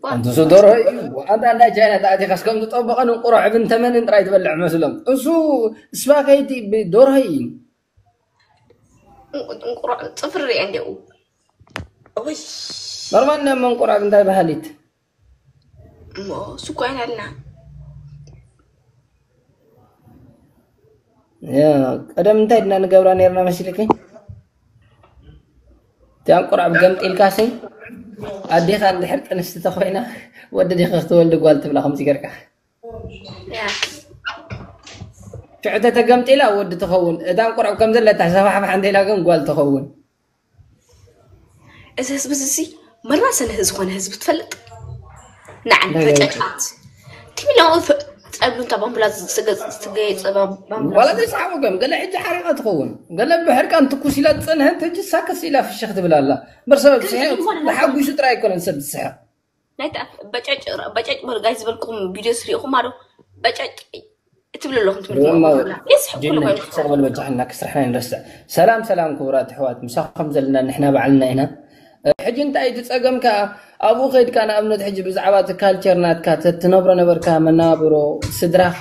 ኣንተ እሱ ደርሆ እዩ ኣንተ እንዳ ቻይና ተኣቲኻስ ከም ዝጠበቐን እንቁሮ ዕብን ተመንን ጥራይ ትበልዕ መስሎም እሱ ስፓጌቲ ብደርሆ እዩ እንቁሮ ጽፍሪ ሪአ እንዲኡ ወይ ኖርማል ናይ መንቁራብ እንታይ ባህሊት እሞ እሱ እኮ ኣይናልና ቀደም እንታይ ድና ንገብራ ነርና መሲልኪ እቲኣን ቁርዕብ ገምጢልካሲ ኣዴኻ እንድሕር ጥንስቲ ተኮይና ወዲ ዲኻ ክትወልድ ጓል ትብላ ከምዚ ገርካ ሽዕተ ተገምጢላ ወዲ ትኸውን እታን ቁርዕብ ከም ዘለታ ሰፋሕፋሕ እንተኢላ ግን ጓል ትኸውን እዚ ህዝቢ እዚ መራሰ ንህ ዝኾነ ህዝቢ ትፈልጥ ንዓን ፈጨጫት ቲሚላዊ ጸብሉ እንታ ባምቡላ ዝገጽ ዝትገየጸ ባምቡላ ዋላ ዘይሰሓቁ ከም ገለ ሕጂ ሓሪቃ ትኸውን ገለ ብሕርቃን ትኩስ ኢላ ትጸንሐት ሕጂ ሳክስ ኢላ ፍሽኽ ትብል ኣላ እምበር ሰብ ዝስሕቕ ተሓጒሱ ጥራይ ኣይኮነን ሰብ ዝስሕቕ ናይታ በጨጭ በጨጭ በሉ ጋይ ዝበልኩም ቪድዮ ስሪእኹም ኣዶ በጨጭ ትብሉ ኣለኹም ትምህርቲ ሰበል በጃሕና ክስርሕና ንረስዕ ሰላም ሰላም ክቡራት ኣሕዋት ምሳኹም ዘለና ንሕና ባዕልና ኢና ሕጂ እንታይ እቲ ጸገም ከኣ ኣብኡ ከይድካ ንኣብነት ሕጂ ብዛዕባ እቲ ካልቸር ናትካ ተትነብሮ ነበርካ መናብሮ ስድራኻ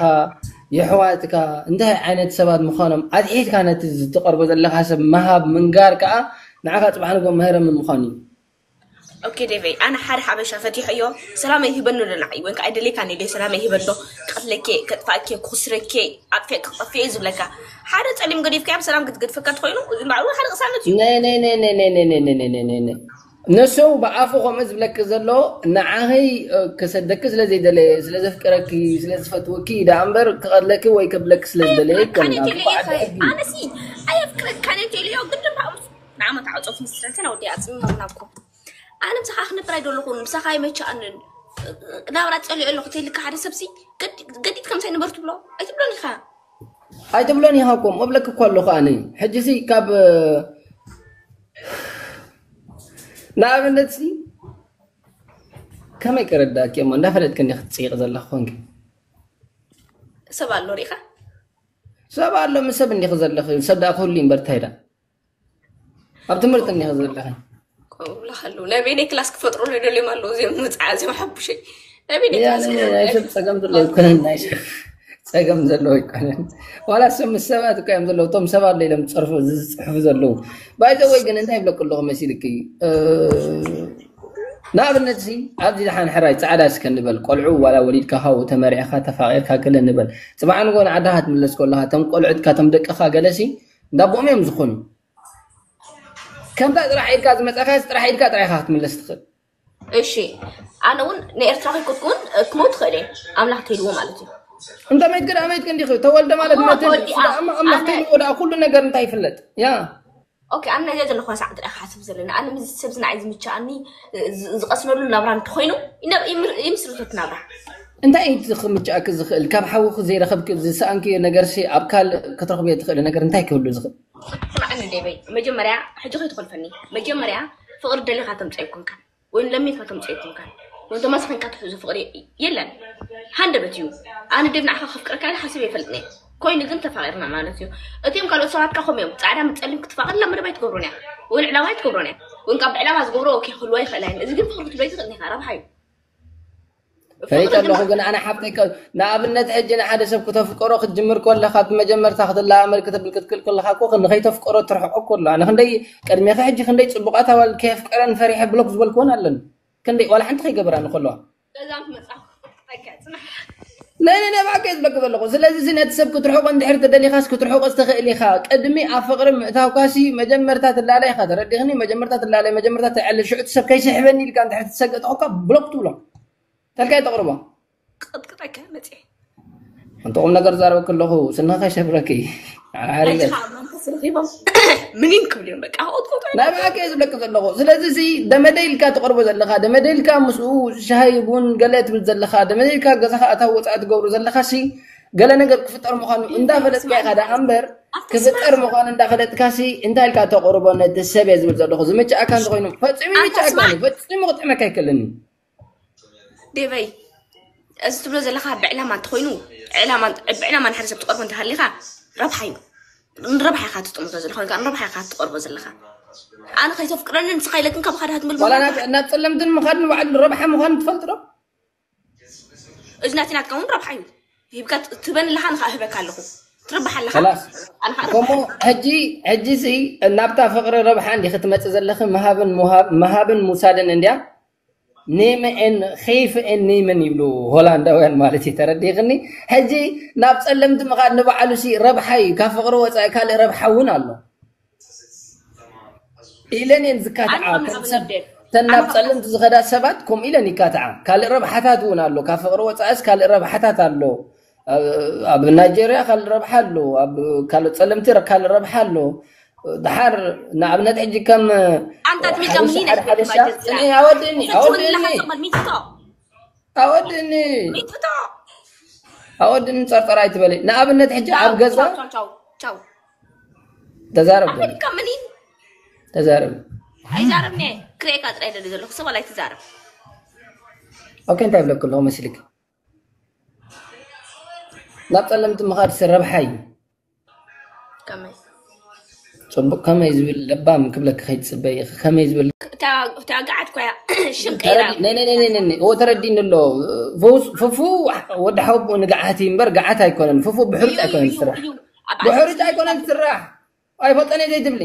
የሕዋትካ እንታይ ዓይነት ሰባት ምዃኖም ኣትሒትካ ነቲ ዝትቐርቦ ዘለኻ ሰብ ምሃብ ምንጋር ከኣ ንዓኻ ጽባሕ ንጎ መህረምን ምዃን እዩ ኦኬ ዴቨይ ኣነ ሓደ ሓበሻ ፈቲሐዮ ሰላመይ ሂበኒ ዶ ንዓይ ወይ ከዓ ኣይደልየካን እየ ሰላመይ ሂበኒ ዶ ክቐትለኬ ከጥፋእኬ ክኹስረኬ ኣጥፊ ክጠፍኤ ዝብለካ ሓደ ፀሊም ገዲፍካዮ ብሰላም ክትገድፈካ ትኾይኑ እዚ ባዕሉ ሓደ ቅሳነት እዩ ነይ ነይ ነይ ነይ ነይ ነይ ነይ ነይ ነይ ነይ ነይ ነይ ነይ ነሱ ብኣፉ ከምኡ ዝብለኪ ዘሎ ንዓኸይ ክሰደኪ ስለ ዘይደለየ ስለ ዘፍቅረኪ ስለ ዝፈትወኪ ደኣ እምበር ክቐትለኪ ወይ ከብለኪ ስለ ዝደለየ ኣይኮነን ኣነ ሲ ኣየፍቅረካን እየ ኢለዮ ግን ድማ ንዓመት ዓጾት ምስረትን ኣወዲ ኣጽምም ናብኩም ኣነ ምሳኻ ክነብር ኣይደለኹን ምሳኻ ኣይመቸኣንን ናብራ ጸሊኦ ኣለኹ ተይልካ ሓደ ሰብሲ ገዲድ ከምሳይ ንበር ትብሎ ኣይትብሎን ኢኻ ኣይትብሎን ኢኻ እኮ እብለክ እኮ ኣለኹ ኣነ ሕጂ ሲ ካብ ንኣብነት ሲ ከመይ ክረዳእኪ እሞ እንዳፈለጥክ እንዲ ክትፅይቕ ዘለኽ ኮንኪ ሰብ ኣሎ ሪኢኻ ሰብ ኣሎ ምስ ሰብ እንዲኺ ዘለኺ ሰብ ደኣ ክህሉ እዩ እምበር እንታይ ደኣ ኣብ ትምህርቲ እኒኸ ዘለኺ ብላኸሉ ናይ በይነይ ክላስ ክፈጥሩ ደልዮም ኣለዉ እዚኦም ምፅዓ እዚኦም ሓቡሸይ ናይ በይነይ ክላስ ናይ ሰብ ፀገም ዘለዎ ኣይኮነን ናይ ሰብ ፀገም ዘለዎ ኣይኮነን ዋላ ሰብ ምስ ሰባት እኮ እዮም ዘለዉ እቶም ሰባት ዶ ኢሎም ዝፀርፉ ዝፅሕፉ ዘለዉ ባይዘወይ ግን እንታይ ይብለኩ ኣለኹ መሲልኪ ንኣብነት ሲ ኣብዚ ደሓን ሕራይ ፃዕዳ እስከ ንበል ቆልዑ ዋላ ወሊድካ ካብኡ ተመሪዕካ ተፋቂርካ ገለ ንበል ፅባሕ ንጎ ንዓድኻ ትምለስ ከለኻ እቶም ቆልዑትካ እቶም ደቅኻ ገለሲ እንዳቦኦም እዮም ዝኾኑ ከምታ ጥራሕ ኢድካ ዝመፀኻስ ጥራሕ ኢድካ ጥራሕ ኢኻ ክትምለስ ትኽእል እሺ ኣነ እውን ንኤርትራ ከይኮትኩ እውን ክመውት ትኽእል እየ ኣምላኽ ተይልዎ ማለት እዩ እንተ መይት ግን ኣመይት ግን ዲኺ ተወልደ ማለት መትን ኣምላኽ ተይልዎ ደኣ ኩሉ ነገር እንታይ ይፍለጥ ያ ኦኬ ኣነ ነዚኣ ዘለኹዋ ሰዓት ጥራሕ ክሓስብ ዘለና ኣነ ምስ ሰብ ዝንዓይ ዝምችኣኒ ዝቐስነሉ ናብራ እንተኾይኑ ይምስርቶት ናብራ እንታይ እዩ እቲ ክምችኣኪ ዝኽእል? ካብ ሓውኺ ዘይረኸብኪ ዝሰኣንክዮ ነገርሲ ኣብ ካልእ ክትረኽብዮ ትኽእሊ ነገር እንታይ ክህሉ ዝኽእል? ስማዕኒ ዴበይ፣ መጀመርያ ሕጂ ከይትኾልፈኒ። መጀመርያ ፍቕሪ ደሊኻ ተምፅኦ ኣይኮንካን፣ ወይ ለሚንካ ተምፅኦ ኣይኮንካን፣ ወይ ተማስኺንካ ትሕዙ ፍቕሪ የለን። ሃንደበት እዩ። ኣነ ዴብ ንዓኻ ከፍቅረካ ኢለ ሓሲበ ይፈልጥኒ። ኮይኑ ግን ተፋቒርና ማለት እዩ። እቲኦም ካልኦት ሰባትካ ከምኡ እዮም። ፃዕዳ ምስ ፀሊም ክትፋቐር ላ መደብ ኣይትገብሮን እያ፣ ወይ ዕላማ ኣይትገብሮን እያ። ወይ ካብ ዕላማ ዝገብሮ ኦኬ ክህልዋ ይኽእላ እየን። እዚ ግን ፍቕሪ ክትብሎ ኣይትኽእልን ኢኻ፣ ረብሓ እዩ። ፈሊጠ ኣለኹ ግን ኣነ ሓብተይ ከ- ንኣብነት ሕጂ ንሓደ ሰብ ክተፍቀሮ ክትጅምር ከለኻ ብመጀመርታ ክትለኣመድ ክትብል ክትክእል ከለኻ እኮ ንኸይተፍቀሮ ትርሕቆ እኮ ኣሎ ኣነ ክንደይ ቅድሜኺ ሕጂ ክንደይ ፅቡቓት ኣዋል ከየፍቀረን ፈሪሐ ብሎክ ዝበልክወን ኣለኒ ክንደይ ዋላ ሓንቲ ከይገበራኒ ከለዋ ገዛም ትመፃ ጠቀ ፅናሕ ናይ ናይ ናይ ብሓቂ ዝብለክ ዘለኹ ስለዚ እዚ ነቲ ሰብ ክትርሕቆ እንድሕር ተደሊኻስ ክትርሕቆ ዝተኽእል ኢኻ ቅድሚ ኣብ ፍቕሪ ምእታውካሲ መጀመርታ ትላለ ኢኻ ተረዲኽኒ መጀመርታ ትላለ መጀመርታ ተዕልል ሽዑ እቲ ሰብ ከይስሕበኒ ኢልካ እንድሕር ትሰገጥ ኾንካ ብሎክ ትብሎ ተልካይ ተቕርቦ ቅጥቅጠከ መፅኤ እንተ ቁም ነገር ዛረበክ ኣለኹ ስንኻ ከይሰብረኪ ሓሪገት ሕጂ ከዓ መንፈስ ረኺቦም ምኒን ክብሉ እዮም በቃ ቁጥቁጦ ናይ ብሓቂ እየ ዝብለክ ዘለኹ ስለዚ እዚ ደመደ ኢልካ ትቐርቦ ዘለኻ ደመደ ኢልካ ምስኡ ሻሂ ቡን ገለ ትብል ዘለኻ ደመደ ኢልካ ገዛኻ ኣታዊ ወፃኢ ትገብሩ ዘለኻ ሲ ገለ ነገር ክፍጠር ምዃኑ እንዳፈለጥካ ኢኻ ደኣ እምበር ክፍጠር ምዃኑ እንዳፈለጥካ ሲ እንታይ ኢልካ ተቕርቦ ነቲ ሰብ እየ ዝብል ዘለኹ ዝምችኣካ እንተኮይኑ ፈፂሙ ይምችኣካ እዩ ፈፂሙ ክጥዕመካ ኣይክእልን እዩ ዴቨይ እዚ ትብሎ ዘለኻ ብዕላማ እንተኮይኑ ብዕላማ ንሓደ ሰብ ትቐርቦ እንተሃሊኻ ረብሓ እዩ ንረብሓ ኢኻ ትጥምቶ ዘለኻ ወይ ከዓ ንረብሓ ኢኻ ትቐርቦ ዘለኻ ኣነ ከይተፍቅረኒ ንስኻ ኢለክን ካብ ሓደ ሃትምል ዋላ ናብ ናብ ፀለምትን ምኻድ ንባዕሉ ረብሓ ምዃኑ ትፈልጥ ዶ እዚ ናቲ ናትካ እውን ረብሓ እዩ ሂብካ ትበኒ ኣለኻ ንኻ እህበካ ኣለኹ ትርብሓ ኣለኻ خلاص ኣነ ከዓ ከምኡ ሕጂ ሕጂ ሲ ናብታ ፍቕሪ ረብሓ እንዲ ክትመፅእ ዘለኺ ምሃብን ምሃብ- ምሃብን ምውሳድን እንድያ ኔመኤን ኸይፍኤን ኔመን ይብሉ ሆላንዳውያን ማለት እዩ ተረዲኽኒ ሕጂ ናብ ፀለምቲ ምኻድ ንባዕሉ ሲ ረብሓ እዩ ካብ ፍቕሪ ወፃኢ ካልእ ረብሓ እውን ኣሎ ኢለን እየን ዝካትዓ እተን ናብ ፀለምቲ ዝኸዳ ሰባት ከምኡ ኢለን ይካትዓ ካልእ ረብሓታት እውን ኣሎ ካብ ፍቕሪ ወፃእስ ካልእ ረብሓታት ኣሎ ኣብ ናይጀርያ ካልእ ረብሓ ኣሎ ኣብ ካልእ ፀለምቲ ካልእ ረብሓ ኣሎ ድሓር ንኣብነት ሕጂ ከም ኣንታት ሚዛ ምኒነ ሓበሻ ኣወድኒ ኣወድኒ ኣወድኒ ኣወድኒ ፀርፀር ኣይትበሊ ንኣብነት ሕጂ ኣብ ገዛ ተዛረብ ኣፈልካ ምኒን ተዛረብ ኣይዛረብኒ ክሬካ ጥራይ ደሊ ዘለኹ ሰብ ኣላይ ትዛረብ ኦኬ እንታይ ብለክ ኣለኹ መስልክ ናብ ፀለምቲ ምኻድ ረብሓ እዩ ከመይ ፅቡቅ ከመይ ዝብል ለባም ክብለክ ከይትፅበይ ኢኺ ከመይ ዝብል ተጋዓት ኮያ ሽም ቀይራ እዎ ተረዲኒ ኣሎ ፍፉ ወዲ ሓወብኡ ንግዓት እዩ እምበር ግዓት ኣይኮነን ፍፉ ብሕሩጭ ኣይኮነን ትስራሕ ብሕሩጭ ኣይኮነን ትስራሕ ኣይፈልጠን እየ ዘይትብሊ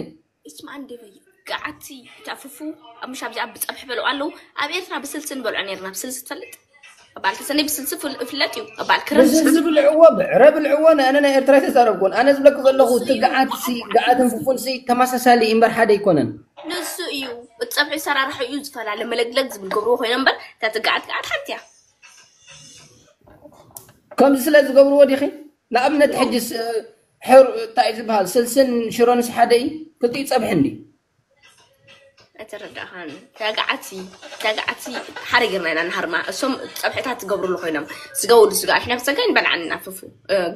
እስማ እንዴ በይ ገዓቲ እታ ፍፉ ኣብ ምሽ ኣብዚኣ ብፀብሒ በልዑ ኣለዉ ኣብ ኤርትራ ብስልሲ ንበልዖ ነርና ብስልሲ ትፈልጥ በዓል ተሰነይ ብስልሲ ፍል- ፍለጥ እዩ በዓል ክረምቲ ብስልሲ ብልዕዎ ብዕረ ብልዕዎ ንኣነ ናይ ኤርትራ ተዛረብኩን ኣነ ዝብለክ ዘለኹ እቲ ገዓት ሲ ገዓትን ፍፉን ሲ ተመሳሳሊ እምበር ሓደ ኣይኮነን ንሱ እዩ እቲ ፀብሒ ሰራርሑ እዩ ዝፈላለ መለግለግ ዝብል ገብርዎ ኮይኖም እምበር እታ ትገዓት ገዓት ሓንቲ እያ ከምዚ ስለ ዝገብርዎ ዲኺ ንኣብነት ሕጂ እንታይ እዩ ዝበሃል ስልስን ሽሮንስ ሓደ እዩ ክልቲኡ ፀብሒ እንዲ ኣይተረዳእኻን ተጋዓቲ ተጋዓቲ ሓደ ጌርና ኢና ንሃርማ እሶም ፀብሕታት ትገብርሉ ኮይኖም ስጋ ወዲ ስጋ ኣሕና ብፀጋ ንበልዓን እናፈፉ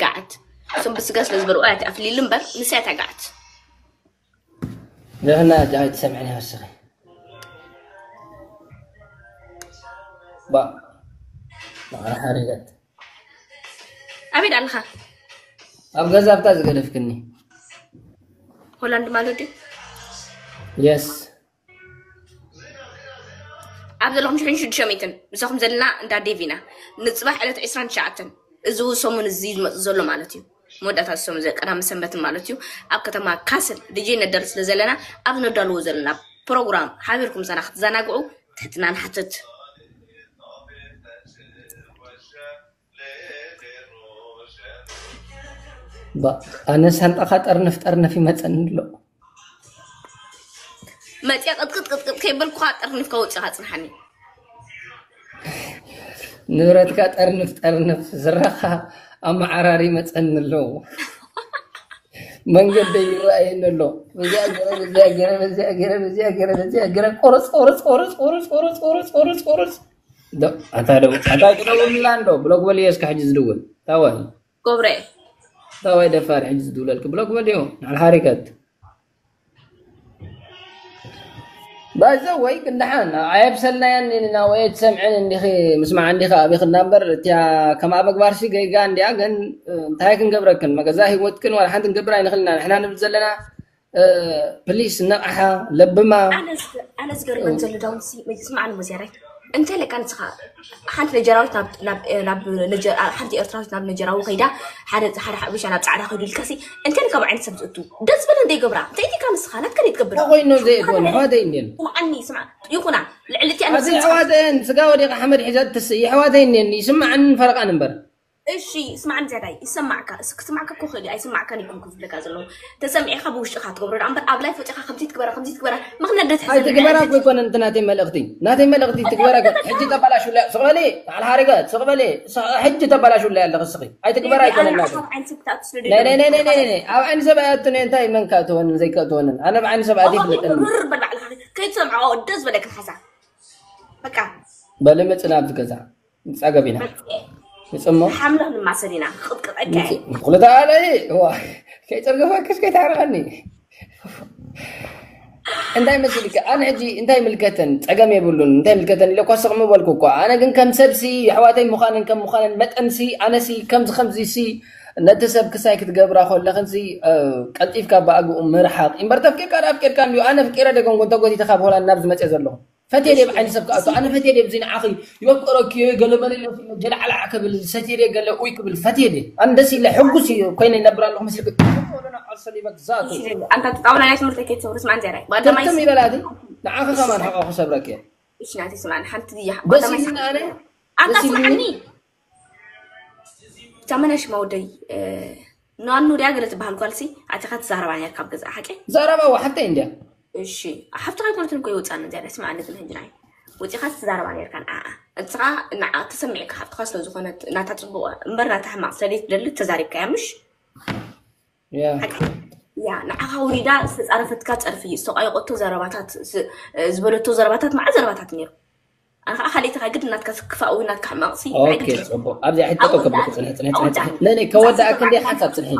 ጋዓት እሶም ብስጋ ስለ ዝበልዑ ኣቲ ኣፍሊሉ እምበር ንስያ ተጋዓት ንሕና ጃ ኣይትሰምዕን ይወስኺ ባ ማዕረ ሓሪገት ኣበይ ኣለኻ ኣብ ገዛ ኣብታ ዝገደፍክኒ ሆላንድ ማለት ድዩ የስ ኣብ ዘለኹም ሽሕን ሽዱሽተ ሚእትን ምሳኹም ዘለና እንዳ ዴቪና ንፅባሕ ዕለት ዕስራን ትሽዓተን እዚ ሰሙን እዚ ዝመፅእ ዘሎ ማለት እዩ መወዳእታ ሰሙን እዚ ቀዳሚ ሰንበትን ማለት እዩ ኣብ ከተማ ካስል ድጄ ነዳሉ ስለ ዘለና ኣብ ነዳልዎ ዘለና ፕሮግራም ሓቢርኩም ምሳና ክትዘናግዑ ትሕትና ንሓትት ኣነ ሳንጣኻ ጠርነፍ ጠርነፍ ይመፀኒ ኣሎ መፅያ ቅጥቅጥ ቅጥቅጥ ከይበልኩኻ ጠርኒፍካ ወፂኻ ፅንሓኒ ንብረትካ ጠርንፍ ጠርንፍ ዝረኻ ኣመዓራሪ ይመፀኒ ኣለዉ መንገደይ ይረኣየኒ ኣሎ በዚኣ ገረ በዚኣ ገረ በዚኣ ገረ በዚኣ ገረ በዚኣ ገረ ቆረፅ ቆረፅ ቆረፅ ቆረፅ ቆረፅ ቆረፅ ቆረፅ ቆረፅ ዶ ኣታ ደው ኣታ ደውልላ እንዶ ብሎክ በልዮ እስከ ሕጂ ዝድውል ታወይ ጎብረ ታወይ ደፋር ሕጂ ዝድውለልክ ብሎክ በልዮ። ንዓል ሓሪከት ባይዘ ወይ ክንደሓን ኣየብሰልናያን ኢና ወይ ትሰምዕን እንዲኺ ምስማዕ እንዲኻ ኣቢኽና እምበር እቲያ ከም ኣበግባርሲ ገይጋ እንዲያ ግን እንታይ ክንገብረክን መገዛ ህይወትክን ዋላ ሓንቲ ክንገብር ኣይንኽእልና ንሕና ንብል ዘለና ፕሊስ ነቕሓ ለብማ ኣነ ዝገርመን ዘሎ ዳውንሲ ስማዕኒ ሙዚያራይ እንተ ለካ ንስኻ ሓንቲ ነጀራዊት ናብ- ናብ- ናብ ነጀ- ሓንቲ ኤርትራዊት ናብ ነጀራዊ ከይዳ ሓደ ሓደ ሓበሻ ናብ ፃዕዳ ከይዱ ኢልካሲ እንተ ካብ ዓይነት ሰብ ዝእቱ ደስ በለ እንደ ይገብራ እንታይ ዲካ ንስኻ ናትካ ደይ ትገብር እንታይ ኮይኑ ዘይእትወን ኣሕዋተይ እንድየን ስምዓኒ ስምዓ ይኹና ልዕሊ እቲ ኣነ ኣዚ ኣሕዋተን ስጋ ወዲቐ ሓመድ ሒዛ ትስእ ኣሕዋተይ እንድየን ይስምዓንን ፈረቓን እምበር እሺ ስማዕኒ ዝያዳይ ይሰማዕካ እስ- ክስማዕካ እኮ ክእል እዩ ኣይስማዕካን ይኮንኩ ዝብለካ ዘለኹ ተሰሚዕካ ብውሽጥካ ትገብሮ ደኣ እምበር ኣብ ላይ ፈጢኻ ከምዚ ትግበራ ከምዚ ትግበራ ምኽንያት ደት ኣይትግበራ እኮ ኣይኮነን እቲ ናተይ መልእኽቲ ናተይ መልእኽቲ ትግበራ ኣይኮነ ሕጂ ተባላሹላ ስቕ በሊ በዓል ሓሪገ ስቕ በሊ ስ- ሕጂ ተባላሹላ ኣለኺ እስኺ ኣይትግበራ ኣይኮነን ናተይ ናይ ናይ ናይ ናይ ናይ ናይ ኣብ ዓይኒ ሰብ ኣያትነ እንታይ መን ከእትወንን ዘይከእትወንን ኣነ ኣብ ዓይኒ ሰብ ኣት ይፍለጠኒ ርር በል ባዕልኻ ከይትሰምዖ ደስ በለካ ሓሳብ በቃ በሊ መፅና ኣብዚ ገዛ ንፃገብ ኢና ንፅሞ ሓምለ ክንማሰል ኢና ክቕጥቀጠካ እዩ ኩለታ ኣለ ከይፀርገፋክስ ከይታረቀኒ እንታይ መሲልካ ኣነ ሕጂ እንታይ ምልከተን ፀገም የብሉን እንታይ ምልከተን ኢለ እኳ ስቕ ምበልኩ እኳ ኣነ ግን ከም ሰብሲ የሕዋተይ ምዃነን ከም ምዃነን መጠንሲ ኣነሲ ከምዚ ከምዚሲ ነቲ ሰብ ክሳይ ክትገብራ ከለኽንሲ ቀልጢፍካ ብኣግኡ ምርሓቕ እምበር ተፍቂርካ ኣፍቂርካ እንዲዩ ኣነ ፍቂረ ደገንጎ እንተጎቲተ ካብ ሆላንድ ናብ ዝመፅእ ዘለኹ ፈትየ ድየ ብዓይኒ ሰብ ክኣቱ ኣነ ፈትየ ድየ ብዚ ንዓኺ ይወቅረኪ እየ ገለ መለ ኢለ ጀላዕላዕ ክብል ሰትየ ድየ ገለ ኡይ ክብል ፈትየ ድየ ኣነ ደስ ኢለ ሕጉስ እየ ኮይነ ይነብር ኣለኹ መስልክ ኣንታ ትጣውላ ናይ ትምህርቲ ከይትሰብርስ ማን ዘራይ ባዳማይ ትም ይበላቲ ንዓኺ ከማን ሓቃ ክሰብረኪ እየ እሺ ናቲ ስማን ሓንቲ ድያ ደስ ባዳማይ ኢልና ኣነ ኣንታ ደስ ኢልኒ ስማዕኒ ታመናሽ ማውደይ ናኑ ድያ ገለ ትበሃል ጓልሲ ኣቲኻ ትዛረባ ነርካ ኣብ ገዛ ሓቂ ዘረባ ዋሓፍተይ እንድያ እሺ ሓፍትኻ ኣይኮነትን እኮ ይወፃኒ እዚኣ ደስ መዓለት ንሕጂ ናይ ወፂኻ ትዛረባ ነርካ ንዓኣ እትኻ ንዓ ተሰሚዕካ ሓፍትኻ ስለ ዝኾነት ናታ ፅቡቕ እምበር ናታ ሕማቕ ስለደይ ትደሊ ተዛሪብካያ ምሽ ያ ሓቂ ያ ንዓኻ ውሪዳ ዝተፃረፈትካ ፀርፊ ዝተቋየቆቶ ዘረባታት ስ- ዝበለቶ ዘረባታት መዓት ዘረባታት ነይሩ ኣነ ከዓ ካልእትኻ ግድ ናትካ ክፋእ ወይ ናትካ ሕማቕሲ ኦኬ ፅቡቅ ኣብዚኣ ሕጂ ጠጠው ከብለኪ ፅንሒ ፅንሒ ፅንሒ ነይ ነይ ከወዳእክ እንደ ሓንሳብ ፅንሒ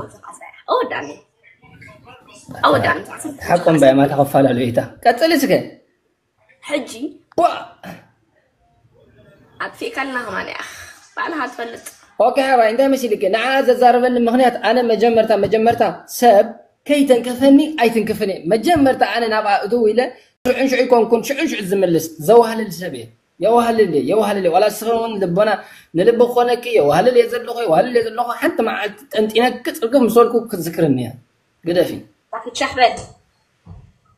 ኣወዳኒ ኣወዳኒ ሓቆም ባይ ማታ ከፈላለዩ ኢታ ቀፅሊ እስከ ሕጂ ቧ ኣጥፊእካልና ከማን እያ ባዕልኻ ትፈልጥ ኦኬ ሓባይ እንታይ መሲልኪ ንዓ ዘዛረበኒ ምክንያት ኣነ መጀመርታ መጀመርታ ሰብ ከይተንከፈኒ ኣይትንክፍን እየ መጀመርታ ኣነ ናብኣ እትው ኢለ ሽዑን ሽዑ ይኮንኩን ሽዑን ሽዑ ዝምልስ ዘዋህልል ሰብ እየ የዋህልል እየ የዋህልል እየ ዋላ እስኺ እውን ልቦና ንልቢ ክኾነኪ የዋህልል እየ ዘለኹ የዋህልል እየ ዘለኹ ሓንቲ መዓልቲ ጠንጢነኪ ፅርግፍ ምስ በልኩ ክትዝክርኒ እያ ግደፊ ሻሕበል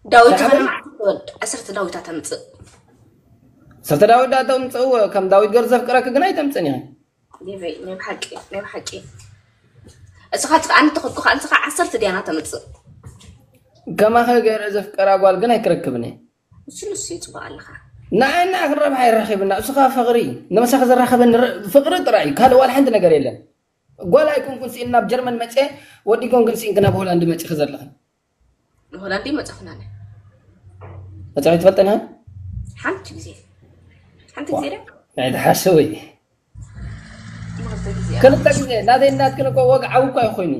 ዳዊት ሻሕበል ትወልድ ዓሰርተ ዳዊት ኣተምፅእ ዓሰርተ ዳዊት ዳ ተምፅእዎ ከም ዳዊት ገር ዘፍቅረኪ ግን ኣይተምፅን ኢኺ ዴቨይ ናይ ብሓቂ ናይ ብሓቂ እስኻ ኣነ ተኸድኩ ከዓ ንስኻ ዓሰርተ ዲያና ተምፅእ ከማኸ ገይረ ዘፍቀራ ጓል ግን ኣይክረክብን እየ እሱ ንሱ ይፅቡቅ ኣለኻ ንዓና ክንረብሓ ይረኺብና እስኻ ፍቕሪ ንመሳኺ ዘራኸበኒ ፍቕሪ ጥራይ እዩ ካልእ ዋላ ሓንቲ ነገር የለን ጓል ኣይኮንኩን ስኢን ናብ ጀርመን መፅየ ወዲ ኮንክን ስኢንክ ናብ ሆላንድ መፂኺ ዘለኽን ንሆላንድ መፀኽና መፅኺ ትፈልጠን ሓንቲ ግዜ ሓንቲ ግዜ ዶ ናይ ተሓሰዊ ክልተ ግዜ ናተይ ናትክን እኮ ወግዓዊ እኳ ይኮይኑ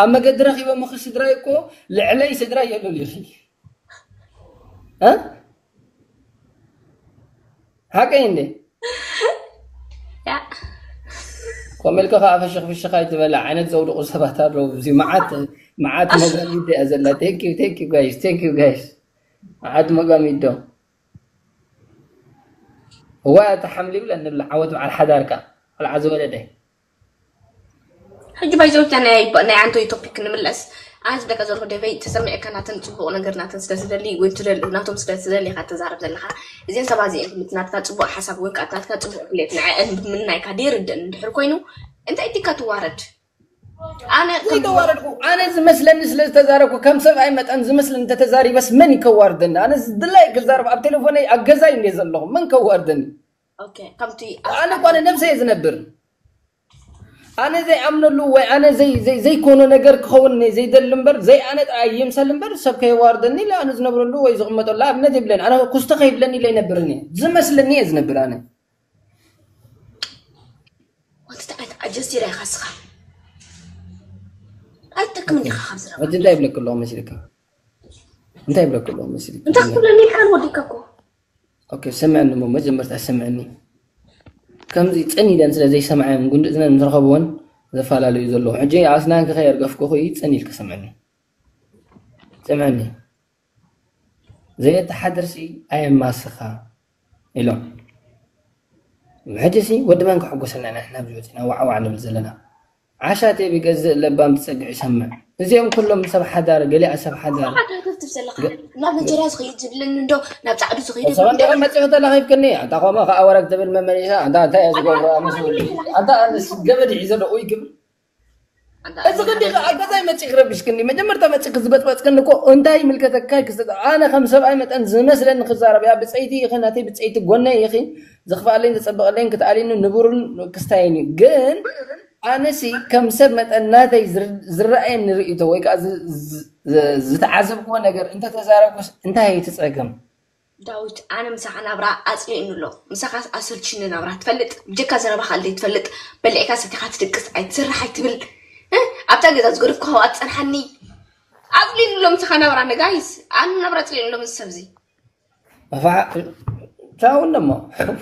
ኣብ መገዲ ረኪቦም ክ ስድራይ እኮ ልዕለይ ስድራይ የሉን ኢኺ ሓቀይ እንዴ ከምኡ ኢልካ ከዓ ፍሽኽ ፍሽኽ ኣይትበላ ዓይነት ዘውድቑ ሰባት ኣለዉ እዚ መዓት መዓት መጋሚድ እያ ዘላ ቴንኪዩ ቴንኪዩ ጋይስ ቴንኪዩ ጋይስ መዓት መጋሚዶ እዋ ተሓምሊብለ ንብላ ዓወት በዓል ሓዳርካ ቆልዓ ዝወለደ ሕጂ ባይዘውታ ናይ ናይ ኣንቶይ ቶፒክ ንምለስ ኣነ ዝብለካ ዘለኹ ደበይ ተሰሚዕካ ናተን ፅቡቕ ነገር ናተን ስለ ዝደሊ ወይ ናቶም ስለ ዝደሊ ኢኻ ትዛረብ ዘለኻ እዚን ሰባት እዚአን ክምቲ ናትካ ፅቡቕ ሓሳብ ወይ ከዓ ናትካ ፅቡቕ ድሌት ንዐአን ብምናይካ ደይርድእን እንድሕር ኮይኑ እንታይ ዲካ ትዋረድ ኣነ ዘይተዋረድኩ ኣነ ዝመስለኒ ስለ ዝተዛረብኩ ከም ሰብኣይ መጠን ዝመስለኒ እንተተዛሪበስ መን ይከዋርደኒ ኣነ ዝድላይ ክዛረብ ኣብ ቴሌፎነይ ኣብ ገዛይ እንደ ዘለኹ መን ከዋርደኒ ኣነ እኳ ንነብሰይ ዝነብር ኣነ ዘይኣምነሉ ወይ ኣነ ዘይ- ዘይ- ዘይኮኖ ነገር ክኸውን ዘይደሊ እምበር፣ ዘይ ኣነ ጥራይ ይምሰል እምበር፣ ሰብ ከየዋርደኒ ኢለ ኣነ ዝነብረሉ ወይ ዝቕመጠሉ ኣብነት የብለን። ኣነ ኩስተ ከይብለኒ ኢለ ይነብርን እየ። ዝመስለኒ እየ ዝነብር ኣነ። ወንትታ ኣይት ኣጀዚራ ኢኻ ስኻ ኣይትጠቅም እንዲኻ ካብ ዝረባ ሕጂ እንታይ ይብለክ ኣለኹ መሲልካ? እንታይ ይብለክ ኣለኹ መሲልካ? እንታይ ክትብለኒ ኢልካ ንወዲካ እኮ ኦኬ፣ ስምዐኒ እሞ መጀመርታ ስምዐኒ። ከምዚ ጽን ኢለን ስለ ዘይሰምዓየን፣ ጉንዲ እዝነን ምስ ረኸብወን ዘፈላለዩ ዘለዉ። ሕጂ ኣስናንኪ ከየርገፍኩኺ ጽን ኢልኪ ስምዕኒ። ስምዕኒ። ዘየተሓድርሲ ኣየማስኻ ኢሎም። ሕጂሲ ወዲ መን ክሕጎሰልና ኢና ንሕና ኣብዚ ወፂና ዋዕዋዕ ንብል ዘለና? ዓሻ ቴብ ይገዝእ ለባም ትፀግዕ ይሰምዕ። እዚኦም ኩሎም ሰብ ሓዳር፣ ገሊኣ ሰብ ሓዳር። ሓዳር ክትብ ዘለካ ናብ ነጀርያ ዝኸይድ ዝብለኒ እንዶ ናብ ፃዕዱ ዝኸይድ ሰበን ደቀ መፅኡ ተላኺፍክኒ ኣንታ ከምኡ ከዓ ወረግ ትብል መመሊሳ ኣንታ እንታይ እየ ዝገብሮ ኣመስሉ ኣንታ ኣነስ ገመድ ሒዘ ደኡ ይግብል እዚ ክንዲ ከዓ ገዛይ መፂእ ክረብሽክኒ መጀመርታ መፂእ ክዝበፅበፅክኒ እኮ እንታይ ይምልከተካ ክስተ ኣነ ከም ሰብኣይ መጠን ዝመስለኒ ክዛረብ እያ ብፀይቲ ይኸ ናተይ ብፀይቲ ጎነይ ይኺ ዝኽፍኣለይን ዘፀብቐለይን ክትኣልኒ ንቡርን ክስታይን እዩ ግን ኣነሲ ከም ሰብ መጠን ናተይ ዝር- ዝረኣየኒ ርእይቶ ወይ ከዓ ዝ- ዝ- ዝ- ዝተዓዘብክዎ ነገር እንተተዛረብኩስ እንታይ እዩ እቲ ፀገም ዳዊት ኣነ ምሳኻ ናብራ ኣፅሊእኒ ኣሎ ምሳኻ ኣሰልችኒ ናብራ ትፈልጥ ብጀካ ዘረባኻ ኣለይ ትፈልጥ በሊዕካ ሰቲኻ ትድቅስ ኣይትስራሕ ኣይትብል እ? ኣብታ ገዛ ዝገደፍኩ ሃዋ ትፀንሓኒ ኣፅሊእኒ ኣሎ ምሳኻ ናብራ ነጋይስ ኣነ ናብራ ኣፅሊእኒ ኣሎ ምስ ሰብዚ ኣፋ ቻው እንደሞ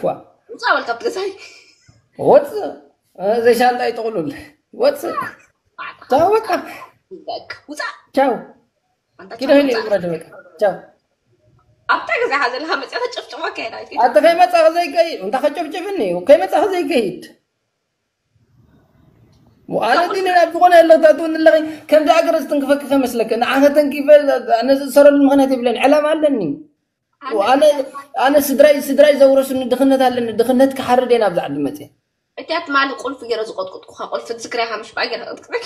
ዋ ውፃእ በል ካብቲ ገዛይ ወፅእ ዘይሻንጣ ይጥቕሉል ወፅእ ቻው በቃ በቃ ውፃእ ቻው ኣንታ ኪዶ ቻው ሄደ ውፃእ ይውረድ በቃ ቻው ኣብታ ገዛኻ ዘለኻ መፅኣ ተጨፍጭፎ ከይዳ ኣንተ ከይመፃ ዘይከይድ እንተ ከጨብጭብኒ ከይመፃ ዘይከይድ ኣነ ግን ናብ ዝኾነ ኣለኽታትውን ኣለኺ ከምዚ ኣገረ ዝትንክፈኪ ከመስለኪ ንዓኸ ተንኪፈ ኣነ ዝእሰረሉ ምኽንያት የብለን ዕላማ ኣለኒ ኣነ ኣነ ስድራይ ስድራይ ዘውረሱኒ ድኽነት ኣለኒ ድኽነት ክሓርድ እየ ናብዚ ዓዲ መፅየ እቲኣ ትማሊ ቁልፊ ገይረ ዝቆጥቁጥኩኻ ቁልፊ ዝክርያኻ ምሽ በኣ ገይረ ቅጥቅጠ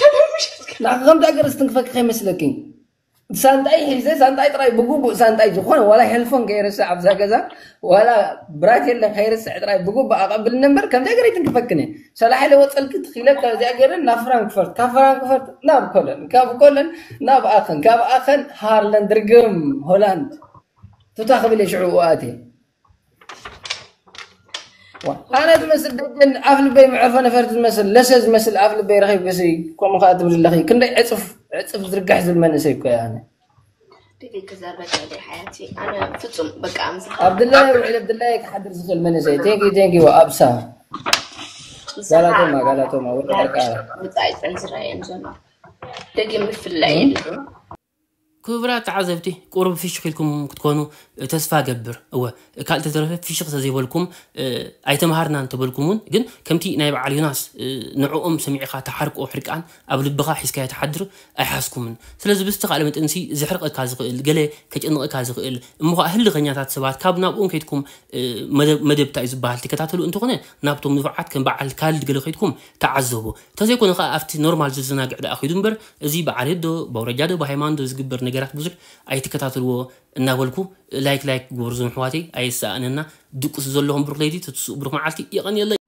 ንዓኸ ከምዚ ኣገረ ዝትንክፈኪ ከይመስለኪ ሳንጣይ ሒዘ ሳንጣይ ጥራይ ብግቡእ ሳንጣይ ዝኾነ ዋላ ሄልፎን ከይርስዕ ኣብዛ ገዛ ዋላ ብራቴለ ከይርስዕ ጥራይ ብግቡእ ኣቐብልኒ እምበር ከምዚ ኣገረ ይትንክፈክኒ ሰላሕ ኢለ ወፀልኪ ትኺለ ካብዚኣ ገይረ ናብ ፍራንክፈርት ካብ ፍራንክፈርት ናብ ኮለን ካብ ኮለን ናብ ኣኸን ካብ ኣኸን ሃርለን ድርግም ሆላንድ ቱታ ክብል እየ ሽዑ ኣትየ ኣነ ዝመስል ደጀን ኣፍ ልበይ መዕርፎ ነፈርቲ ዝመስል ለሰ ዝመስል ኣፍ ልበይ ረኺብክሲ ከምኡ ከዓ ትብል ኣለኺ ክንደይ ዕፅፍ ዕፅፍ ዝርጋሕ ዝብል መንእሰይ እኮ እየ ኣነ ደቂ ክዛረበ ከይደ ሓያቲ ኣነ ፍጹም በቃ ምሳኻ ኣብ ድላየ ውዒለ ኣብ ድላየ ክሓድር ዝኽእል መንእሰይ ቴንኪ ቴንኪ ኣብሳ ጋላቶማ ጋላቶማ ወደ ቀርቃራ ወፃኢ ፀንዝራ እየን ዘሎ ደጊም ምፍላይ የለን ክቡራት ተዓዘብቲ ቁሩብ ፍሽኽ ኢልኩም ክትኮኑ ተስፋ ገብር እወ ካልእ ተተረፈ ፍሽኽ ተዘይበልኩም ኣይተምሃርና እንተበልኩም እውን ግን ከምቲ ናይ በዓል ዮናስ ንዕኦም ሰሚዕኻ ተሓርቆ ሕርቃን ኣብ ልብኻ ሒዝካዮ ትሓድር ኣይሓዝኩምን ስለዚ ብዝተኻእለ መጠንሲ ዘሕርቀካ ዝኽእል ገለ ከጨንቐካ ዝኽእል እሞ ከዓ ህልኸኛታት ሰባት ካብ ናብኦም ከይድኩም መደብ እንታይ እዩ ዝበሃል ትከታተሉ እንተኾነ ናብቶም ንፉዓት ከም በዓል ካልድ ገለ ከይድኩም ተዓዘቡ ተዘይኮነ ከዓ ኣብቲ ኖርማል ዘዘናግዕ ደኣ ኪዱ እምበር እዚ ብዓሌት ዶ ብኣውረጃ ዶ ብሃይማኖት ዶ ዝግበር ነገራት ብዙሕ ኣይትከታተልዎ እናበልኩ ላይክ ላይክ ግበሩ ዞም ኣሕዋተይ ኣየሰኣነና ድቅሱ ዘለኹም ብሩክ ለይቲ ትትስኡ ብሩክ መዓልቲ የቐንየለይ